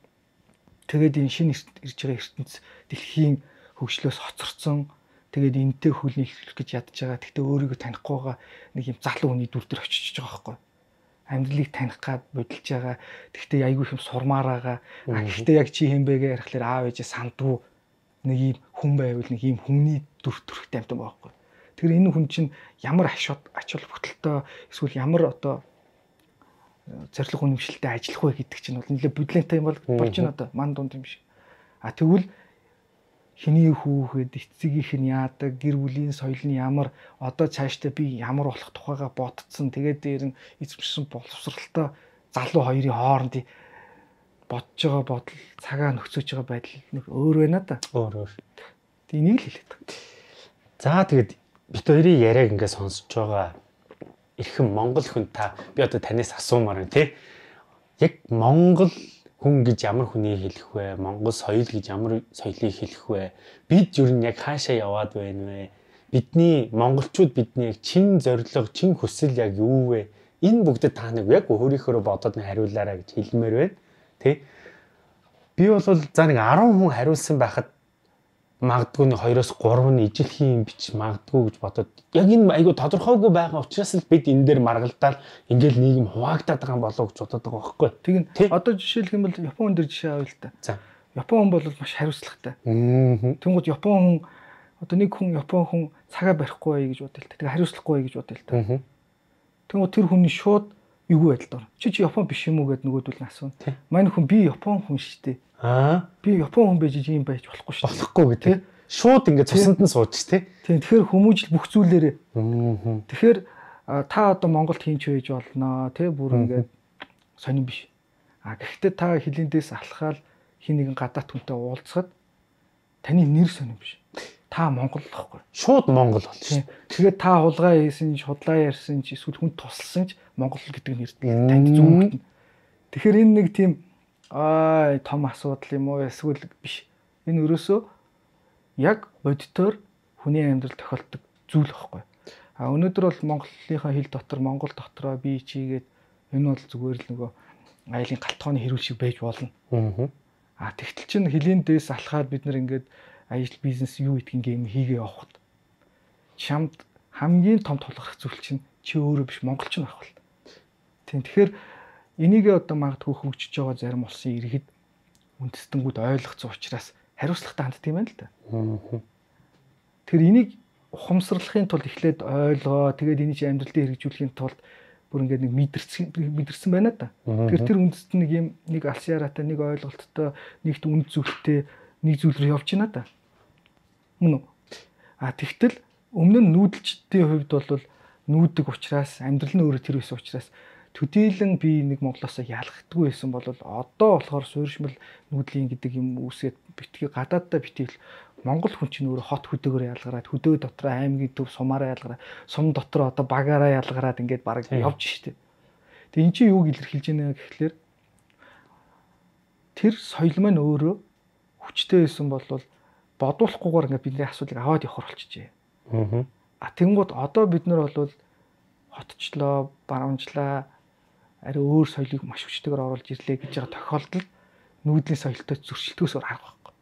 Тэгээд энэ шинэ ирж байгаа ертөнц дэлхийн хөгжлөөс хоцорсон. Тэгээд энтэй хүлээх гэж ядж байгаа. Тэгтээ өөрийгөө танихгүй байгаа нэг юм залуу хүний дүр дээр очиж байгаа байхгүй. Амьдралыг таних гад бодилж байгаа. Тэгтээ айгүй юм сурмаар байгаа. А гэхдээ яг чи хэм бэ гэж ярихлаар аав ээжээ сандгүй нэг юм хүн байвал нэг юм хүмүүний дүр төрхтэй амтан байгаа байхгүй. Тэгэхээр энэ хүн чинь ямар ач холбогдолтой эсвэл ямар одоо зорилго үнэмшилтэй ажиллах вэ гэдэг чинь бол нэлээд бодлонтой юм бол болж байна одоо ман дунд юм шиг. А тэгвэл хиний хүүхэд эцэгийнх нь яадаг, гэр бүлийн соёл нь ямар, одоо цаашдаа би ямар болох тухайга бодцсон. Тэгээд дээр нь эзэмшсэн боловсралтай залуу хоёрын хоорондын бодож байгаа бодол, цагаа нөхцөж байгаа байдал нэг өөр байна да. Өөр өөр. Тэг энийг л хэлээд байгаа. За тэгээд бит хоёрын яриаг ингээд сонсож байгаа эрхэм монгол хүн та би одоо танаас асуумаар байна тий. Яг монгол хүн гэж ямар хүнийг хэлэх вэ? Монгол соёл гэж ямар соёлыг хэлэх вэ? Бид юу н яг хаашаа яваад байна вэ? Бидний монголчууд бидний яг чин зорилго, чин хүсэл яг юу вэ? Энэ бүгдэд та нэг яг өөрийнхөө бодоод нэг хариулаарай гэж хэлмээр байна. Тэ? Би бол за нэг арван хүн хариулсан байхад магадгүй нэг хоёроос гурав нь ижилхэн юм бич магадгүй гэж бодоод яг энэ айгу тодорхойгүй байгаа учраас л бид энэ дээр маргалдаал ингээл нийгэм хуваагдаад байгаа болов гэж бодоод байгаа байхгүй. Тэгин одоо жишээлх юм бол Япон хүн дээр жишээ авъя л та. За. Япон хүн бол маш хариуцлагатай. Тэнгууд Япон хүн одоо нэг хүн Япон хүн цагаа барихгүй бай гэж бодъё л та. Тэгээ хариуцлахгүй бай гэж бодъё л та. Тэнгууд тэр хүний шууд эвгүй байдалд ор. Чи чи Япон биш юм уу гэд нөгөөдөл нь асууна. Манай хүн би Япон хүн шүү дээ. Аа би Япон хүн байж ийм байж болохгүй шүү. Болохгүй гэдэг. Шууд ингээд цусанд нь сууж тий. Тийм тэгэхээр хүмүүжил бүх зүйлээрээ. Тэгэхээр та одоо Монголд хийнч байж болно тий бүр ингээд сонирн биш. А гэхдээ та хилэндээс алхаал хин нэгэн гадаад хүнтэй уулзахад таны нэр сонирн биш. Та Монгол байхгүй. Шууд Монгол бол шүү. Тэгээд та хулгай хийсэн ч, худлаа ярьсан ч, эсвэл хүн тусалсан ч Монгол гэдэг нэр танд зүгтэн. Тэгэхээр энэ нэг тийм аа том асуудал юм уу эсвэл биш. Энэ өрөөсөө яг бодитоор хүний амьдрал тохиолдог зүйл байхгүй. А өнөөдөр бол Монголынхаа хил дотор Монгол дотроо би чигээд энэ бол зүгээр л нөгөө айлын галтгооны хэрүүл шиг байж болно. Аа тэгтэл чинь хилийн дээс алхаад бид нар ингээд ажил бизнес юу гэдгийг юм хийгээ явахад чамд хамгийн том тулгарх зүйл чинь чи өөрөө биш монголч нь байх бол. Тийм тэгэхээр энийг одоо магадгүй хөгжиж байгаа зарим улсын иргэд үндэстэнгүүд ойлгоцсон учраас хариуцлагатай ханддаг юм байна л да. Тэр энийг ухамсарлахын тулд эхлээд ойлгоо, тэгээд энийг амьдрал дээр хэрэгжүүлэхийн тулд бүр ингээд нэг мэдэрсэн мэдэрсэн байна да. Тэгэхээр тэр үндэст нэг юм нэг алсын яраатай, нэг ойлголттой, нэгт үнд зүйлтэй нэг зүйл рүү явж байна да. Мөн үү? А тэгтэл өмнө нь нүүдэлчдийн хувьд бол нүүдэг учраас амьдрал нь өөрөө тэр байсан учраас төдийлөн би нэг Монголоос ялгдаггүй байсан бол одоо болохоор суурьшмал нүүдлийн гэдэг юм үүсгээд битгий гадааддаа битгий Монгол хүн чинь өөрөө хот хөдөөгөр ялгараад хөдөө дотор аймгийн төв сумаараа ялгараад сум дотор одоо багаараа ялгараад ингээд бараг явж штэ. Тэгээ эн чинь юуг илэрхийлж байна гэхлээр тэр соёл маань өөрөө хүчтэй байсан бол бодуулахгүйгээр ингээд бидний асуудлыг аваад явах болчихжээ. Аа. А тэнгууд одоо бид нар бол хотчлоо, баруунчлаа, ари өөр соёлыг маш хүчтэйгээр оруулж ирлээ гэж байгаа тохиолдолд нүүдлийн соёлтой зөрчилдөхөөсөр арга байхгүй.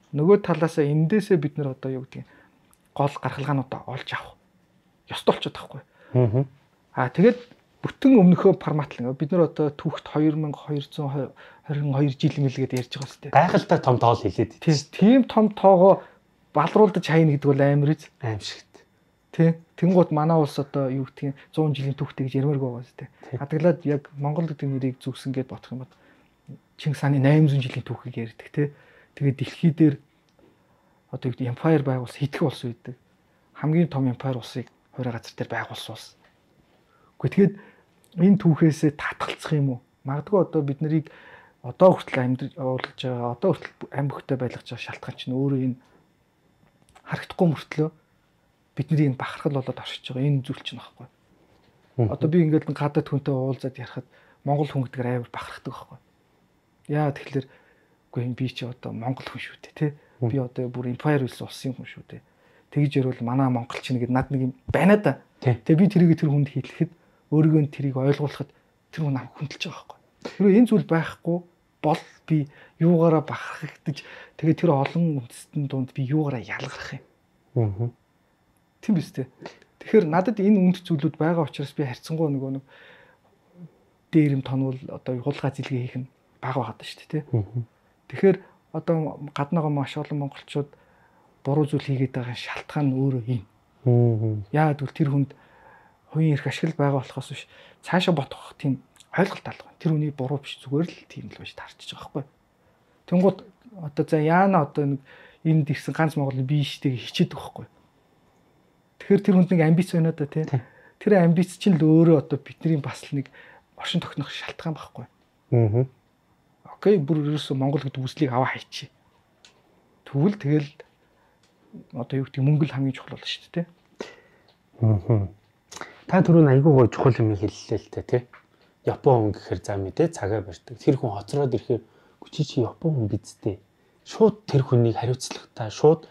Нөгөө талаасаа эндээсээ бид нар одоо юу гэдгийг гол гаргалгаануудаа олж авах ёстой болчиход байхгүй. Аа. Аа тэгээд бүтэн өмнөхөө формат л бид нар одоо түүхт two thousand twenty-two жил мэлгээд ярьж байгаа сте. Гайхалтай том тоол хэлээд тийм. Тийм том тоогоо балруулдаж хайна гэдэг бол амар үз. Аимшигт. Тэ. Тэнгууд манай улс одоо юу гэдгийг one hundred жилийн түүхтэй гэж ярмаарг байгаа сте. Хадгалаад яг Монгол гэдэг нэрийг зүгсэн гээд бодох юм бол Чингис хааны eight hundred жилийн түүхийг ярьдаг те. Тэгээд дэлхий дээр одоо юу гэдэг empire байгуулсан хитгэн улс үйдэг. Хамгийн том empire улсыг хуурай газар дээр байгуулсан улс. Гэхдээ тэгээд энэ түүхээсээ татгалцах юм уу? Магадгүй одоо бид нарыг одоо хүртэл амьд уулж байгаа, одоо хүртэл амь бөхтэй байлгаж байгаа шалтгаан чинь өөрөө энэ харагдахгүй мөртлөө бидний энэ бахархал болоод оршиж байгаа энэ зүйл чинь байхгүй. Одоо би ингээд гадаад хүнтэй уулзаад ярихад монгол хүн гэдгээр амар бахархдаг байхгүй. Яа тэгэхээр үгүй би чи одоо монгол хүн шүү дээ тий. Би одоо бүр empire үлсэн улсын хүн шүү дээ. Тэгж ярил манай монголчин гэдэг над нэг юм байна да. Тэгээ би тэрийг тэр хүнд хэлэхэд өөрийгөө тэрийг ойлгуулахад тэр хүн нам хүндэлж байгаа байхгүй. Тэрөө энэ зүйл байхгүй бол би юугаараа бахархагдаж тэгээ тэр олон үндэстэн дунд би юугаараа ялгарх юм. Аа. Тийм биз дээ. Тэгэхээр надад энэ үнд зүйлүүд байгаа учраас би харьцангуй нөгөө нэг дээрэм тонвол одоо хулгай зилгээ хийх нь бага байгаад шүү дээ тий. Тэгэхээр одоо гаднаагаа маш олон монголчууд буруу зүйл хийгээд байгаа шалтгаан нь өөрөө юм. Яагаад гэвэл тэр хүнд хувийн эрх ашигла байгаа болохоос биш цаашаа ботох тийм ойлголт алга. Тэр хүний буруу биш зүгээр л тийм л байж таарчих байгаа байхгүй. Тэнгууд одоо за яана одоо нэг энд ирсэн ганц монгол би штэ хичээдэг байхгүй. Тэгэхээр тэр хүнд нэг амбиц байна да тий. Тэр амбиц чинь л өөрөө одоо бидний бас л нэг оршин тогтнох шалтгаан байхгүй. Аа. Окей, бүр ерөөсө Монгол гэдэг үслийг аваа хайчи. Тэгвэл тэгэл одоо юу гэдэг мөнгө л хамгийн чухал болно шүү дээ тий. Аа. Та түрүүн айгүй гоо чухал юм хэллээ л дээ тий. Япон хүн гэхээр за мэдээ цагаа барьдаг. Тэр хүн хоцроод ирэхээр чи чи Япон хүн бидтэй. Шууд тэр хүнийг хариуцлагатай шууд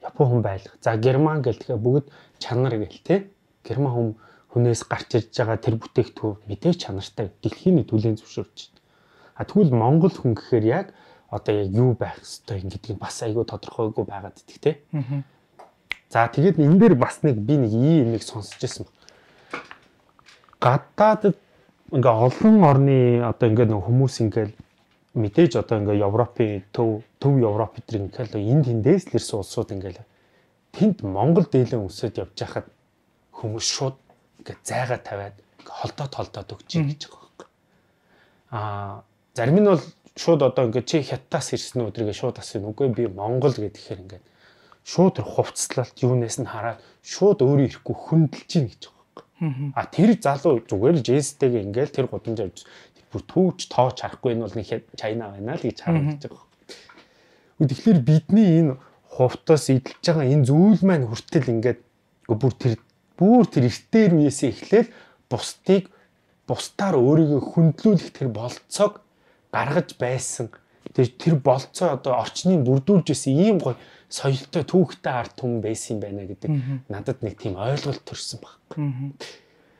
Япон хүн байлгах. За герман гэл тэгэхээр бүгд чанар гэл тий. Герман хүн хүнээс гарч ирж байгаа тэр бүтээгдэхүүн мэдээ чанартай дэлхийн түлээн зөвшөөрч байна. А тэгвэл монгол хүн гэхээр яг одоо яг юу байх ёстой юм гэдгийг бас айгүй тодорхойгүй байгаад идэх тий. Аа. За тэгээд энэ дээр бас нэг би нэг ийм нэг сонсч байсан баг. Гадаадд ингээ олон орны одоо ингээ нэг хүмүүс ингээл мэдээж одоо ингээ Европын төв төв Европ эдрийн ингээл энд тэндээс л ирсэн улсууд ингээл тэнд Монгол дээлэн өсөд явж байхад хүмүүс шууд ингээ зайгаа тавиад холдоод холдоод өгч гэж байгаа байхгүй. Аа зарим нь бол шууд одоо ингээ чи хятадаас ирсэн өдрийгээ шууд асууна. Үгүй би Монгол гэхээр ингээ шууд тэр хувцлалт юунаас нь хараад шууд өөрөө ирэхгүй хөндлөж чинь гэж байгаа байхгүй. А тэр залуу зүгээр л жестэйгээ ингээл тэр гудамж авч бүр түүч тооч харахгүй энэ бол нэг Чайна байна л гэж харагдаж байгаа. Тэгэхээр бидний энэ хувцас идэлж байгаа энэ зүйл маань хүртэл ингээд бүр тэр бүр тэр эртээр үеэсээ эхлээл бусдыг бусдаар өөрийгөө хөндлүүлэх тэр болцоог гаргаж байсан. Тэр тэр болцоо одоо орчныг бүрдүүлж байсан ийм гоё соёлтой түүхтэй ард түмэн байсан юм байна гэдэг надад нэг тийм ойлголт төрсэн баг.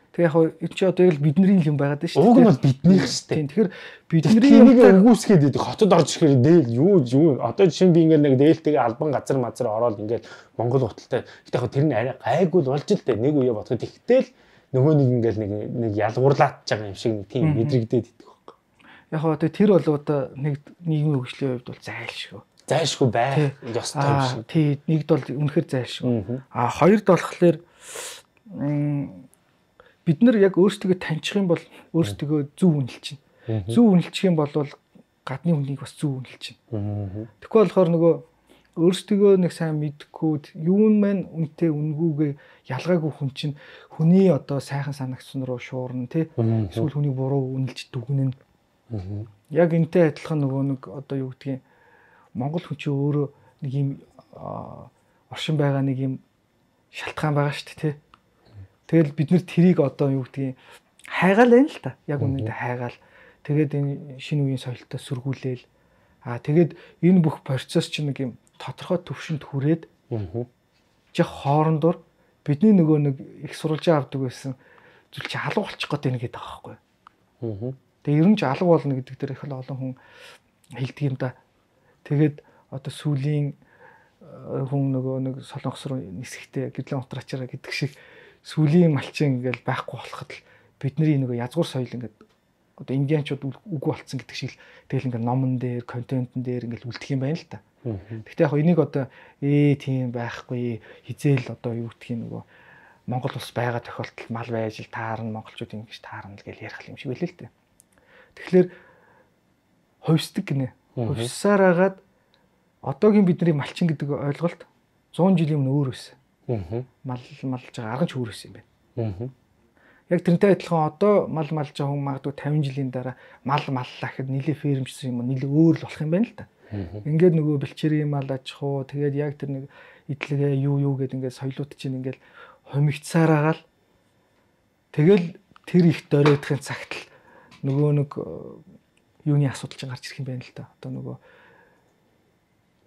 Тэг яг энэ чи одоо яг бидний юм байгаад байна шүү дээ. Уг нь бол биднийх шүү дээ. Тэгэхээр бидний юмтай өгөөсгээд идэг хотод орж ирэхээр дээл юу юу одоо жишээ нь би ингээд нэг дээлтэйгээ албан газар мазар ороод ингээд Монгол хуталтай. Гэтэ яг тэр нь арай гайгүй л болж л дээ. Нэг үе бодоход ихтэл нөгөө нэг ингээд нэг нэг ялгуурлаад байгаа юм шиг нэг тийм мэдрэгдээд идэх. Яг хоо тэр бол одоо нэг нийгмийн хөгжлийн хувьд бол зайлшгүй. Зайлшгүй байх ёстой юм шиг. Тий, нэгд бол үнэхээр зайлшгүй. А хоёрд болохоор бид нар яг өөрсдөө таньчих юм бол өөрсдөө зөв үнэлж чинь. Зөв үнэлчих юм бол гадны хүнийг бас зөв үнэлж чинь. Тэгэхгүй болохоор нөгөө өөрсдөө нэг сайн мэдхгүй юун маань үнтэй үнгүүгээ ялгаагүй хүн чинь хүний одоо сайхан санагцсан руу шуурна тий. Эсвэл хүний буруу үнэлж дүгнэн. Яг энтэй адилхан нөгөө нэг одоо юу гэдгийг Монгол хүн чинь өөрөө нэг юм оршин байгаа нэг юм шалтгаан байгаа шүү дээ тий. Тэгэл бид нэр тэрийг одоо юу гэдгийг хайгаал байна л та. Яг үнэндээ хайгаал. Тэгээд энэ шинэ үеийн соёлтой сөргүүлээл. Аа тэгээд энэ бүх процесс чинь нэг юм тодорхой төвшөнд хүрээд жих хоорондор бидний нөгөө нэг их сурвалжаа авдаг байсан зүйл чи алга болчих гээд байна гэдэг байгаа байхгүй. Тэгээ ерөн ч алга болно гэдэг дээр их олон хүн хэлдэг юм да. Тэгээд одоо сүүлийн хүн нөгөө нэг солонгос руу нисэхдээ гэрлэн утрачаараа гэдэг шиг сүүлийн малчин ингээл байхгүй болоход л бидний нөгөө язгуур соёл ингээд одоо индианчууд үгүй болцсон гэдэг шиг л тэгэл ингээд номон дээр, контентн дээр ингээд үлдэх юм байна л та. Гэхдээ яг энийг одоо ээ тийм байхгүй хизээл одоо юу гэдгийг нөгөө Монгол ус байгаа тохиолдолд мал байж л таарна, монголчууд ингэж таарна л гэж ярих юм шиг байлээ л дээ. Тэгэхээр хувьсдаг гинэ. Хувьсаар агаад одоогийн бидний малчин гэдэг ойлголт зуун жилийн өмнө өөр байсан. Мал малж байгаа арга ч өөр байсан юм байна. Яг тэрнтэй адилхан одоо мал малж байгаа хүн магадгүй тавин жилийн дараа мал маллаа гэхэд нийлээ фермчсэн юм нийлээ өөр л болох юм байна л да. Ингээд нөгөө бэлчээрийн мал аж ахуй тэгээд яг тэр нэг идэлгээ юу юу гэдэг ингээд соёлууд чинь ингээд хомигцсаар агаал тэгэл тэр их дөрөөдхийн цагт л нөгөө нэг юуны асуудал чинь гарч ирэх юм байна л да. Одоо нөгөө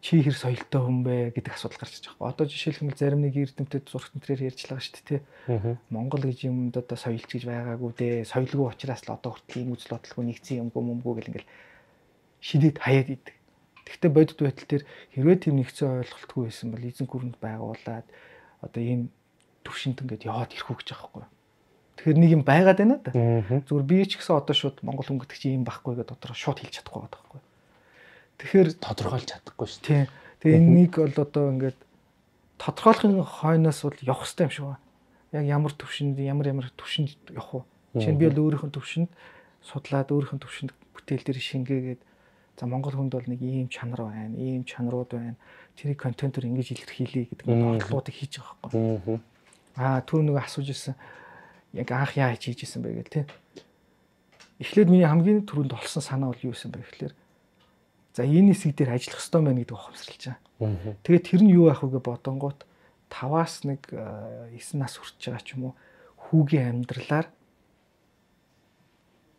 чи хэр соёлтой хүн бэ гэдэг асуудал гарч ирж байгаа. Одоо жишээлбэл зарим нэг эрдэмтэд зурагт нэрээр ярьж байгаа шүү дээ, тий. Монгол гэж юмд одоо соёлч гэж байгаагүй дээ. Соёлгүй учраас л одоо хүртэл ийм үзэл бодлого нэгцэн юмгүй мөмгүй гэл ингээл шидэд хаяад идэг. Гэхдээ бодит байтал дээр хэрвээ тийм нэгцэн ойлголтгүй байсан бол эзэн гүрэнд байгуулад одоо ийм төвшөнд ингээд яваад ирэх үү гэж байгаа байхгүй. Тэгэхээр нэг юм байгаад байна да. Зүгээр би ч гэсэн одоо шууд монгол хүн гэдэг чинь ийм байхгүй гэдээ дотроо шууд хэлж чадахгүй байгаа байхгүй. Тэгэхээр тодорхойлж чадахгүй шүү. Тийм. Тэгээ энийг бол одоо ингээд тодорхойлохын хойноос бол явах хэрэгтэй юм шиг байна. Яг ямар төвшөнд ямар ямар төвшөнд явах вэ? Жишээ нь би бол өөрийнхөө төвшөнд судлаад өөрийнхөө төвшөнд бүтээл дээр шингээгээд за монгол хүнд бол нэг ийм чанар байна, ийм чанарууд байна. Тэрийг контентоор ингэж илэрхийлье гэдэг бодлогуудыг хийж байгаа байхгүй. Аа түр нэг асууж ирсэн. Яг анх яа хийж ийсэн бэ гэл тий. Эхлээд миний хамгийн түрүүнд олсон санаа бол юу байсан бэ гэхэлэр за энэ хэсэг дээр ажиллах хэрэгтэй байна гэдэг ухамсарлаж байгаа. Тэгээд тэр нь юу байх вэ гэж бодонгууд таваас нэг девять нас хүрч байгаа ч юм уу хүүгийн амьдралаар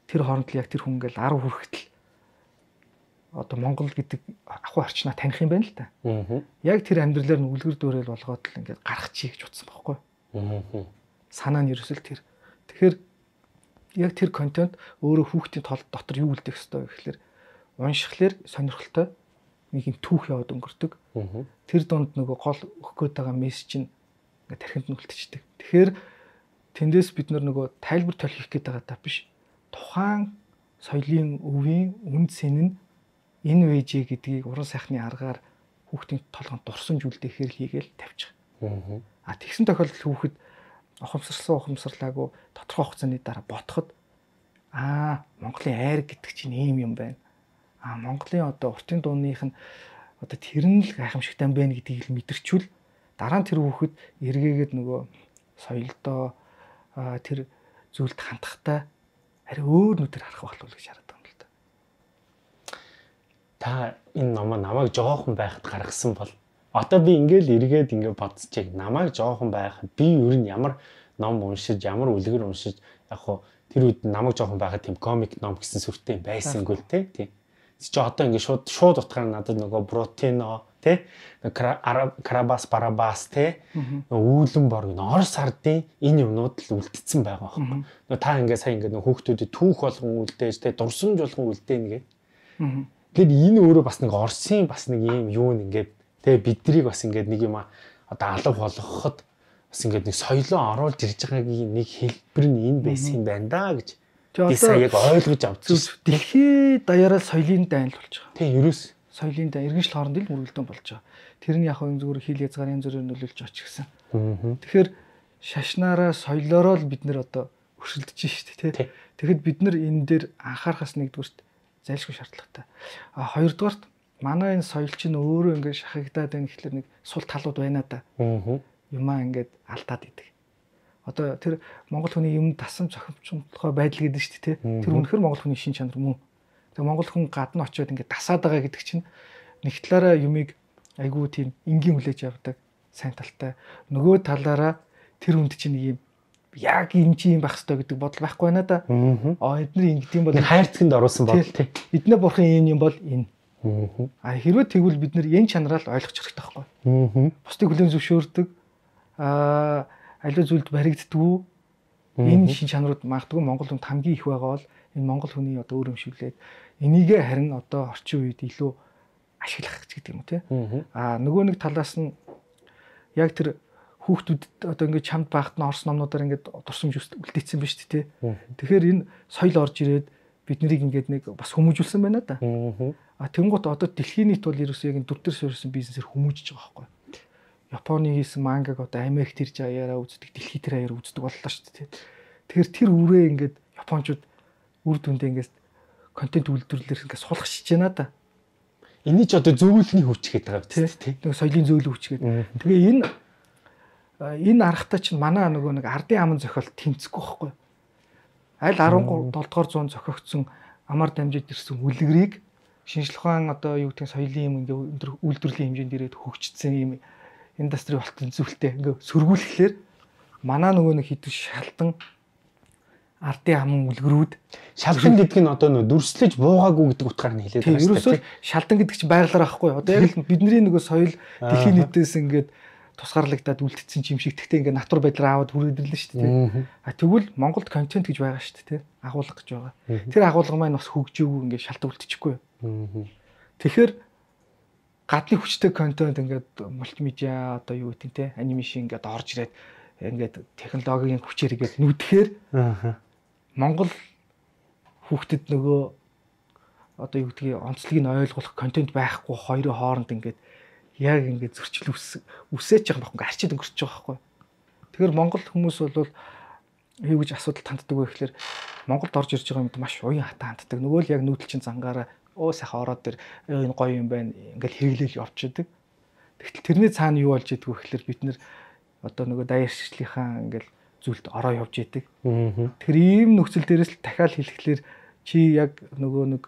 тэр хооронд л яг тэр хүн ингээл десять хүрэхтэл одоо Монгол гэдэг ахуй орчноо таних юм байна л та. Яг тэр амьдралаар нь үлгэр дуурайл болгоод л ингээд гарах чий гэж утсан байхгүй. Санаа нь ерөөсөл тэр. Тэгэхээр яг тэр контент өөрөө хүүхдийн тол дотор юу үлдэх ёстой вэ гэхэлэр уншихлаар сонирхолтой нэг юм түүх яваад өнгөрдөг. Тэр донд нөгөө гол өгөх гээд байгаа мессеж нь ингээд тархинд нь үлдчихдэг. Тэгэхээр тэндээс бид нөгөө тайлбар толих гээд байгаа та биш. Тухайн соёлын өвийн үнд сэн нь энэ вэжэ гэдгийг уран сайхны аргаар хүүхдийн толгонд дурсан зүйлдээ хийгээл тавьчих. А тэгсэн тохиолдолд хүүхэд ухамсарлсан ухамсарлаагүй тодорхой хугацааны дараа бодоход аа Монголын айр гэдэг чинь ийм юм байна. А Монголын одоо уртын дууных нь одоо тэр нь л гайхамшигтай байна гэдгийг л мэдэрчүүл дараа нь тэр хүүхэд эргээгээд нөгөө соёлдоо тэр зүйлд хандахтай арай өөр нүдээр харах болов уу гэж хараад байгаа юм л да. Та энэ номоо намайг жоохон байхад гаргасан бол одоо би ингээл эргээд ингээ бодсочих намайг жоохон байхад би ер нь ямар ном уншиж ямар үлгэр уншиж яг хуу тэр үед намайг жоохон байхад тийм комик ном гэсэн сүртэй байсангүй л те тийм чи одоо ингэ шууд шууд утгаар надад нөгөө Брутино тий Карабас Барабас тий үүлэн борг н Орос ардын энэ юмнууд л үлдсэн байгаа байхгүй. Нөгөө та ингэ сая ингэ нөгөө хүүхдүүдэд түүх болгон үлдээж тий дурсамж болгон үлдээнэ гэ. Тэгэхээр энэ өөрөө бас нэг Оросын бас нэг юм юу нэгээд тий биднийг бас ингэ нэг юм одоо алга болгоход бас ингэ нэг соёлоо оруулж ирж байгаагийн нэг хэлбэр нь энэ байсан юм байна да гэж Би сая яг ойлгож авчихсан. Дэлхий даяараа соёлын дайнд болж байгаа. Тийм, ерөөс соёлын дай иргэншил хооронд л мөргөлдөөн болж байгаа. Тэр нь яг хөө зүгээр хил язгарын зүрээр нөлөөлж оч гэсэн. Тэгэхээр шашнаараа соёлоороо л бид нэр одоо өршөлдөж шүү дээ, тий. Тэгэхэд бид нар энэ дээр анхаарахаас нэгдүгürt зайлшгүй шаардлагатай. А хоёрдугаарт манай энэ соёл чинь өөрөө ингээд шахагдаад байна гэхэлэр нэг сул талууд байна да. Юмаа ингээд алдаад идэг. Одоо тэр монгол хүний юм дасан зохимжтой байдал гэдэг шүү дээ, тий. Тэр үнэхээр монгол хүний шин чанар мөн. Тэгээ монгол хүн гадна очиод ингээд дасаад байгаа гэдэг чинь нэг талаараа юмыг айгүй тийм энгийн хүлээж авдаг, сайн талтай. Нөгөө талаараа тэр хүнд чинь нэг юм яг энэ чинь байх хэрэгтэй гэдэг бодол байхгүй байна да. Аа эдний ингэдэм бол хайрцагт оруулсан бодол тий. Эднээ бурхан энэ юм бол энэ. Аа хэрвээ тэгвэл бид нэр энэ чанараа л ойлгох хэрэгтэй байхгүй. Бусдыг хүлээн зөвшөөрдөг. Аа аливаа зүйлд баригддаггүй. Энэ шин чанарууд магадгүй монгол хүнд хамгийн их байгаа бол энэ монгол хүний одоо өөр юмшүүлээд энийгээ харин одоо орчин үед илүү ашиглах гэдэг юм тий. Аа нөгөө нэг талаас нь яг тэр хүүхдүүдэд одоо ингээд чамд байхад нь орс номнуудаар ингээд дурсамж үлдээсэн биз дээ тий. Тэгэхээр энэ соёл орж ирээд бид нарыг ингээд нэг бас хүмүүжүүлсэн байна да. Аа тэнгуут одоо дэлхийн нийт бол ерөөсөө яг энэ дүр дээр суурьсан бизнесээр хүмүүжиж байгаа байхгүй. Японы хийсэн мангаг одоо Америкт ирж аяараа үздэг, дэлхий дээр аяараа үздэг боллоо шүү дээ тий. Тэгэхээр тэр үрээ ингээд японочууд үр дүндээ ингээд контент үйлдвэрлэлээр ингээд суулгах шиж байна да. Эний ч одоо зөвлөлийн хүч гэдэг байгаа тий. Нэг соёлын зөвлөлийн хүч гэдэг. Тэгээ энэ энэ аргатай чинь манай нөгөө нэг ардын аман зохиол тэмцэхгүй байхгүй. Аль арван долоо дугаар зуунд зохиогдсон амар дамжид ирсэн үлгэрийг шинжлэх ухаан одоо юу гэдэг соёлын юм ингээд үйлдвэрлэлийн хэмжээнд ирээд хөгжсөн юм индастри болтон зүйлтэй ингээд сөргүүлэхлээр манай нөгөө нэг хідэн шалтан ардын аман үлгэрүүд шалдан гэдэг нь одоо нөө дүрслэж буугаагүй гэдэг утгаар нь хэлээд байгаа шүү дээ. Ерөөсөө шалдан гэдэг чинь байгалаар байхгүй. Одоо яг л бидний нөгөө соёл дэлхийн нийтээс ингээд тусгаарлагдаад үлдсэн юм шиг тэгтээ ингээд натур байдлаар аваад хүрээдэрлэн шүү дээ. А тэгвэл Монголд контент гэж байгаа шүү дээ. Агуулга гэж байгаа. Тэр агуулга маань бас хөгжөөгүй ингээд шалт үлдчихгүй. Тэгэхээр гадны хүчтэй контент ингээд мультимедиа одоо юу гэдэг те анимашн ингээд орж ирээд ингээд технологийн хүчээр ингээд нүдэхээр Монгол хүүхдэд нөгөө одоо юу гэдгийг онцлогийг нь ойлгох контент байхгүй хоёрын хооронд ингээд яг ингээд зөрчил үсэж байгаа байхгүй арчид өнгөрч байгаа байхгүй. Тэгэхээр Монгол хүмүүс бол юу гэж асуудал танддаг вэ гэхээр Монголд орж ирж байгаа юмд маш уян хатаа ханддаг. Нөгөө л яг нүүдэл чин зангаараа оо сайхан ороод тэр энэ гоё юм байна ингээд хэрэглээл явчихдаг. Тэгтэл тэрний цаана юу болж идэггүй гэхээр бид нэр одоо нөгөө даяар шишлийнхаа ингээд зүйлд ороо явж идэг. Тэр ийм нөхцөл дээрээс л дахиад хэлэхлээр чи яг нөгөө нэг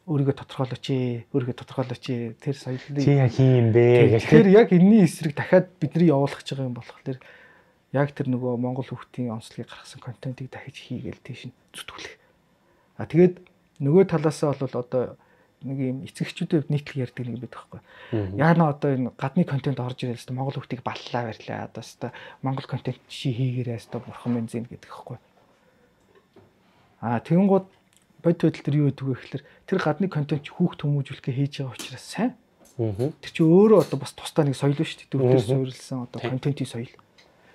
өөрийгөө тодорхойлооч ээ, өөрийгөө тодорхойлооч ээ. Тэр соёлыг чи яг хин юм бэ гэх. Тэгэхээр яг энэний эсрэг дахиад бидний явуулах гэж байгаа юм болохоор яг тэр нөгөө монгол хүүхдийн онцлогийг гаргасан контентыг дахиж хийгээл тийш нь зүтгүүлэх. А тэгээд нөгөө талаасаа бол одоо нэг юм эцэгчүүдэд нийтлэг ярьдаг нэг юм байдаг байхгүй. Яг нь одоо энэ гадны контент орж ирэл хэвээр монгол хүүхдийг баллаа барьлаа. Одоо хэвээр монгол контент чи хийгээрээ хэвээр бурхан минь зэн гэдэг байхгүй. Аа тэгэнгუთ бод байдал төр юу гэдэг вэ гэхээр тэр гадны контент хүүхд хүмүүжүүлэхээ хийж байгаа учраас сайн. Тэр чи өөрөө одоо бас тусдаа нэг соёл шүү дээ. Дүрдээс суурилсан одоо контентын соёл.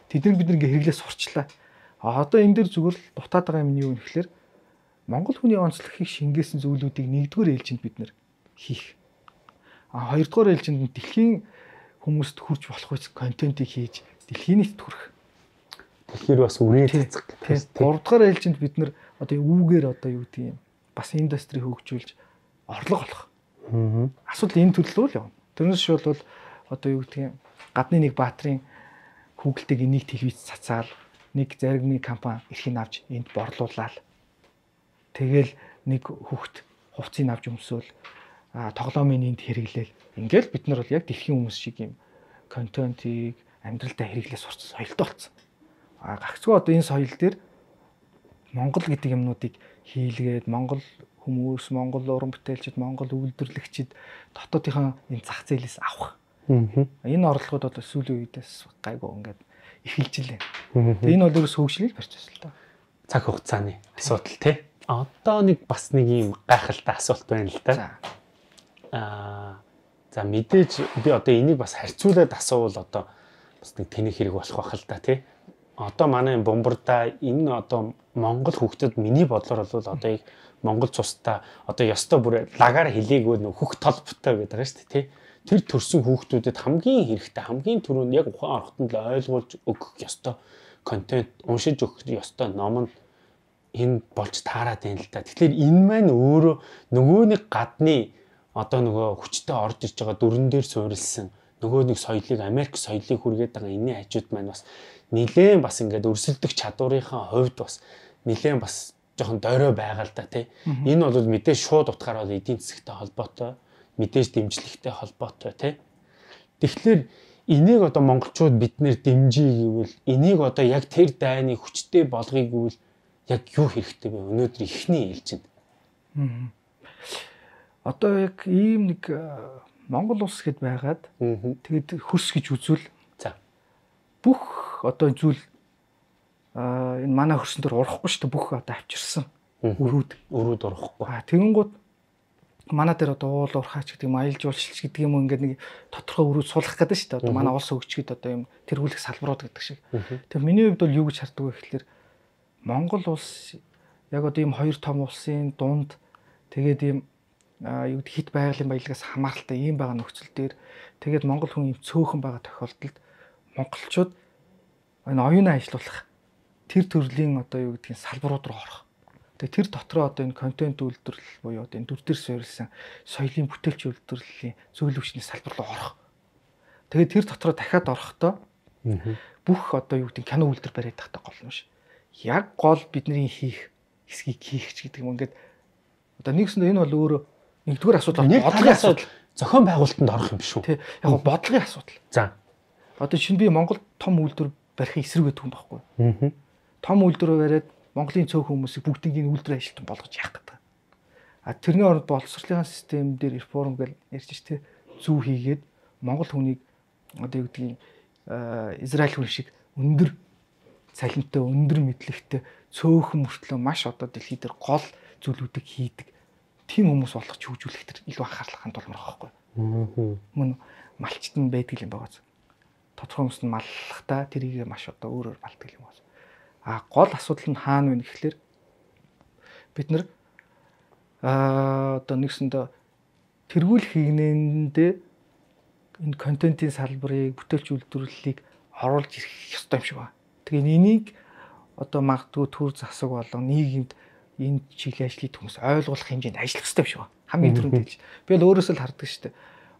Тэднийг бид нэг хэрэглээ сурчлаа. А одоо энэ дэр зүгээр л дутаад байгаа юм нь юу вэ гэхээр монгол хүний онцлогийг шингээсэн зүйлүүдийг нэгдүгээр ээлжинд бид нэр хийх. А хоёрдугаар ээлжинд нь дэлхийн хүмүүст хүрч болох үс контентыг хийж дэлхийн нийтэд хүрэх. Тэгэхээр бас үрээ цэцэг. Гуравдугаар ээлжинд бид нэр одоо үүгээр одоо юу гэдэг юм бас индастри хөгжүүлж орлого олох. Асуудал энэ төрлөө л явна. Тэрнээс шууд бол одоо юу гэдэг юм гадны нэг баатрын хүүгэлтэйг энийг телевиз цацаал нэг заримны компани эрхийг авч энд борлуулаад тэгэл нэг хүүхд хувцсыг авч өмсөөл тоглоомын энд хэрэглээл. Ингээл бид нар бол яг дэлхийн хүмүүс шиг юм контентийг амьдралдаа хэрэглээ сурч соёлтой болсон. А гагцгүй одоо энэ соёл дээр Монгол гэдэг юмнуудыг хийлгээд Монгол хүмүүс, Монгол уран бүтээлчид, Монгол үйлдвэрлэгчид дотоодынхаа энэ зах зээлээс авах. Энэ орлогод бол сүүлийн үедээс гайгүй ингээд эхэлж илээ. Тэгээ энэ бол ерөөс хөгжлийг процесс л та. Цаг хугацааны асуудал тий. Одоо нэг бас нэг юм гайхалтай асуулт байна л да. Аа за мэдээж би одоо энийг бас харьцуулаад асуувал одоо бас нэг тэнэг хэрэг болох байх л да тий. одоо манай бомбарда энэ одоо Монгол хүүхдэд миний бодлоор бол одоо яг Монгол цустай одоо ёстой бүр лагаар хэлээгөө нөх хөх толботой гэдэг байгаа шүү дээ тий. Тэр төрсэн хүүхдүүдэд хамгийн хэрэгтэй хамгийн түрүүнд яг ухаан орохтон л ойлгуулж өгөх ёстой контент уншиж өгөх ёстой ном нь энэ болж таарад байна л та. Тэгэхээр энэ маань өөрөө нөгөө нэг гадны одоо нөгөө хүчтэй орж иж байгаа дүрэн дээр суурилсан нөгөө нэг соёлыг Америк соёлыг хүргээд байгаа энэний хажууд маань бас нилээн бас ингээд өрсөлдөх чадварынхаа хувьд бас нилээн бас жоохон дорой байгаа л да тий. Энэ бол мэдээж шууд утгаараа эдийн засагтай холбоотой, мэдээж дэмжлэгтэй холбоотой тий. Тэгэхээр энийг одоо монголчууд биднэр дэмжиж гэвэл энийг одоо яг тэр дайны хүчтэй болгоё гэвэл яг юу хэрэгтэй вэ? Өнөөдөр ихний ээлжинд. Одоо яг ийм нэг Монгол улс гэд байгаад тэгээд хөрс гэж үзвэл за бүх одоо зүйл а энэ манай хөрсөн дээр урахгүй шүү дээ бүх одоо авчирсан өрүүд өрүүд урахгүй. А тэгэнгүүт манай дээр одоо уул урхаач гэдэг юм аялал жуулчлалч гэдэг юм ингээд нэг тодорхой өрүүд суулгах гэдэг шүү дээ. Одоо манай улс өгч гэдэг одоо юм тэргүүлэх салбарууд гэдэг шиг. Тэгэхээр миний хувьд бол юу гэж харддаг вэ гэхэлэр Монгол улс яг одоо ийм хоёр том улсын дунд тэгээд ийм юу гэдэг хит байгалийн баялагаас хамааралтай ийм байгаа нөхцөл дээр тэгээд Монгол хүн ийм цөөхөн байгаа тохиолдолд монголчууд энэ оюунаа ажиллуулах тэр төрлийн одоо юу гэдгийг салбарууд руу орох. Тэгээ тэр дотроо одоо энэ контент үйлдвэрлэл буюу одоо энэ дүр дээр суурилсан соёлын бүтээлч үйлдвэрлэлийн зөвлөл хүчний салбар руу орох. Тэгээ тэр дотроо дахиад орохдоо бүх одоо юу гэдэг кино үйлдвэр бариад тахтай гол нь ш. Яг гол бидний хийх хэсгийг хийх ч гэдэг юм ингээд одоо нэгсэндээ энэ бол өөрөө нэгдүгээр асуудал бодлогын асуудал зохион байгуулалтанд орох юм биш үү? Тий. Яг нь бодлогын асуудал. За. Одоо шинэ би Монгол том үйлдвэр барихын эсрэг гэдэг юм баггүй. Аа. Том үйлдвэр бариад Монголын цөөх хүмүүсийг бүгдийг энэ үйлдвэр ажилтан болгож яах гэдэг. А тэрний оронд боловсролын систем дээр реформ гэж ярьж штэ зүү хийгээд Монгол хүнийг одоо юу гэдгийг Израиль хүн шиг өндөр цалинтай, өндөр мэдлэгтэй цөөхөн мөртлөө маш одоо дэлхий дээр гол зүйлүүдийг хийдэг тийм хүмүүс болгож хөгжүүлэх төр илүү анхаарал хандуулмаар байгаа байхгүй. Мөн малчт нь байдаг юм байгаа. Тодорхой хүмүүс нь маллахтаа тэрийг маш одоо өөрөөр малтдаг юм байна. А гол асуудал нь хаана вэ гэхэлэр бид нар аа одоо нэгсэндээ тэргүүлэх хийнэндээ энэ контентын салбарыг, бүтээлч үйлдвэрлэлийг оруулж ирэх ёстой юм шиг байна. Тэгээ энийг одоо магадгүй төр засаг болон нийгэмд энэ чиглэлийн ажлыг хүмүүс ойлгуулах хэмжээнд ажиллах хэрэгтэй юм шиг байна. Хамгийн түрүүнд хэлж. Би бол өөрөөсөө л хардаг шүү дээ.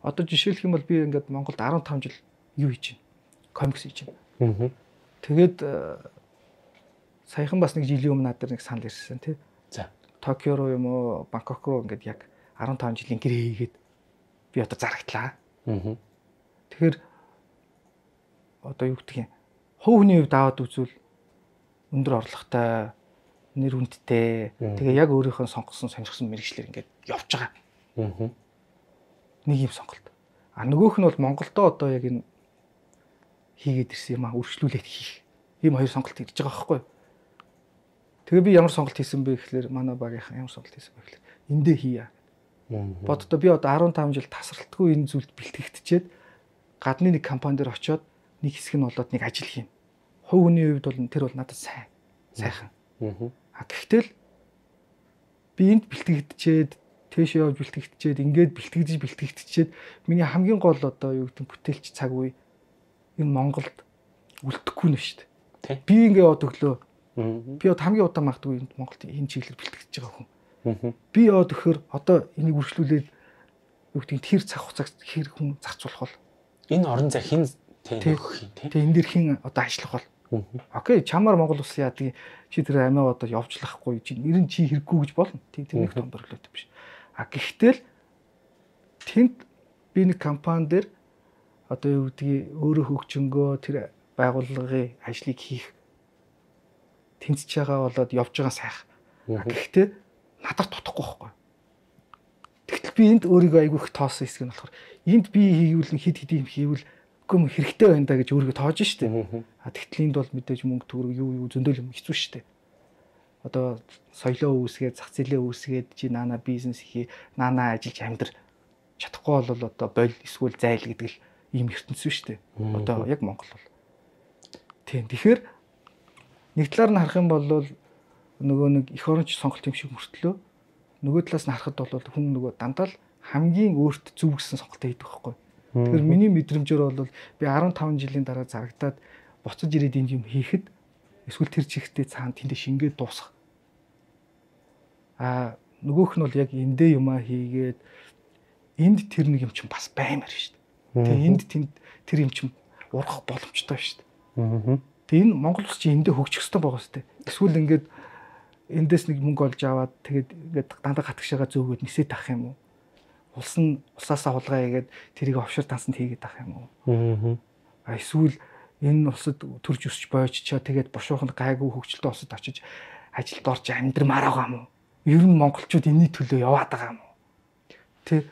Одоо жишээлх юм бол би ингээд Монголд арван таван жил юу хийж байна? Комикс хийж байна. Тэгээд саяхан бас нэг жилийн өмнө надад нэг санал ирсэн тий. За. Токио руу юм уу, Бангкок руу ингээд яг арван таван жилийн гэрээ хийгээд би одоо зарагдлаа. Аа. Тэгэхээр одоо юу гэх юм? Хувь хүний хувьд аваад үзвэл өндөр орлоготой, нэр хүндтэй, тэгээ яг өөрийнхөө сонгосон сонирхсон мэргэжлэр ингээд явж байгаа. Аа. Нэг юм сонголт. А нөгөөх нь бол Монголдоо одоо яг энэ хийгээд ирсэн юм аа үргэлжлүүлээд хийх. Ийм хоёр сонголт ирж байгаа байхгүй юу? Тэгээ би ямар сонголт хийсэн бэ гэхэлэр манай багийнхан ямар сонголт хийсэн бэ гэхэлэр эндээ хийя. Боддоо би одоо арван таван жил тасралтгүй энэ зүйлд бэлтгэгдчихэд гадны нэг компани дээр очиод нэг хэсэг нь болоод нэг ажил хийн. Хувь хүний хувьд бол тэр бол надад сайн. Сайхан. А гэхдээ л би энд бэлтгэгдчихэд тэшээ явж бэлтгэгдчихэд ингээд бэлтгэж бэлтгэгдчихэд миний хамгийн гол одоо юу гэдэг бүтээлч цаг үе энэ Монголд үлдэхгүй нь шүү дээ. Би ингээд яваад өглөө би одоо хамгийн удаан магадгүй энд Монголд энэ чиглэлээр бэлтгэж байгаа хүн. Би яваад өгөхөр одоо энийг үргэлжлүүлээд юу гэдэг тэр цаг хугацааг хэр хүн зарцуулах бол энэ орон зай хин тэнөх юм тий. Тэгээ энэ дэр хин одоо ажиллах бол. Окей, чамаар Монгол улс яадаг чи тэр амиа одоо явжлахгүй чи нэр нь чи хэрэггүй гэж болно. Тий тэр нэг том борлоод биш. А гэхдээ л тэнд би нэг компани дээр одоо юу гэдгийг өөрөө хөгжөнгөө тэр байгууллагын ажлыг хийх тэнцэж байгаа болоод явж байгаа сайх. Гэхдээ надад тутахгүй байхгүй. Тэгтэл би энд өөрийгөө айгүй их тоосон хэсэг нь болохоор энд би хийвэл хид хид юм хийвэл үгүй юм хэрэгтэй байна да гэж өөрийгөө тоож штэ. А тэгтэл энд бол мэдээж мөнгө төгрөг юу юу зөндөөл юм хэцүү штэ. Одоо соёлоо үүсгээд, зах зээлээ үүсгээд чи наана бизнес хий, наана ажиллаж амьдр чадахгүй бол одоо боль эсвэл зайл гэдэг л ийм ертөнцийн штэ. Одоо яг Монгол бол. Тийм. Тэгэхээр нэг талаар нь харах юм бол нөгөө нэг эх оронч сонголт юм шиг мөртлөө нөгөө талаас нь харахад бол хүн нөгөө дандаа л хамгийн өөрт зөв гэсэн сонголтоо хийдэг байхгүй. Тэгэхээр миний мэдрэмжээр бол би арван таван жилийн дараа зарагдаад буцаж ирээд энэ юм хийхэд эсвэл тэр чигтээ цаана тэндээ шингээд дуусах. Аа нөгөөх нь бол яг эндээ юмаа хийгээд энд тэр нэг юм чинь бас баймаар шүү дээ. Тэгээ энд тэнд тэр юм чинь урах боломжтой шүү дээ. Тэгээ энэ Монгол улс чинь эндээ хөгжих хэрэгтэй байгаа шүү дээ. Эсвэл ингээд эндээс нэг мөнгө олж аваад тэгээд ингээд дандаа гатгшаага зөөгөөд нисээд авах юм уу? Улс нь улсаасаа хулгай хийгээд тэрийг офшор тансанд хийгээд авах юм уу? Аа эсвэл энэ улсад төрж өсч бооччоо тэгээд бошоохонд гайгүй хөгжилтэй улсад очиж ажилд орж амьдрмаар байгаа юм уу? Ер нь монголчууд энэний төлөө яваад байгаа юм уу? Тэ.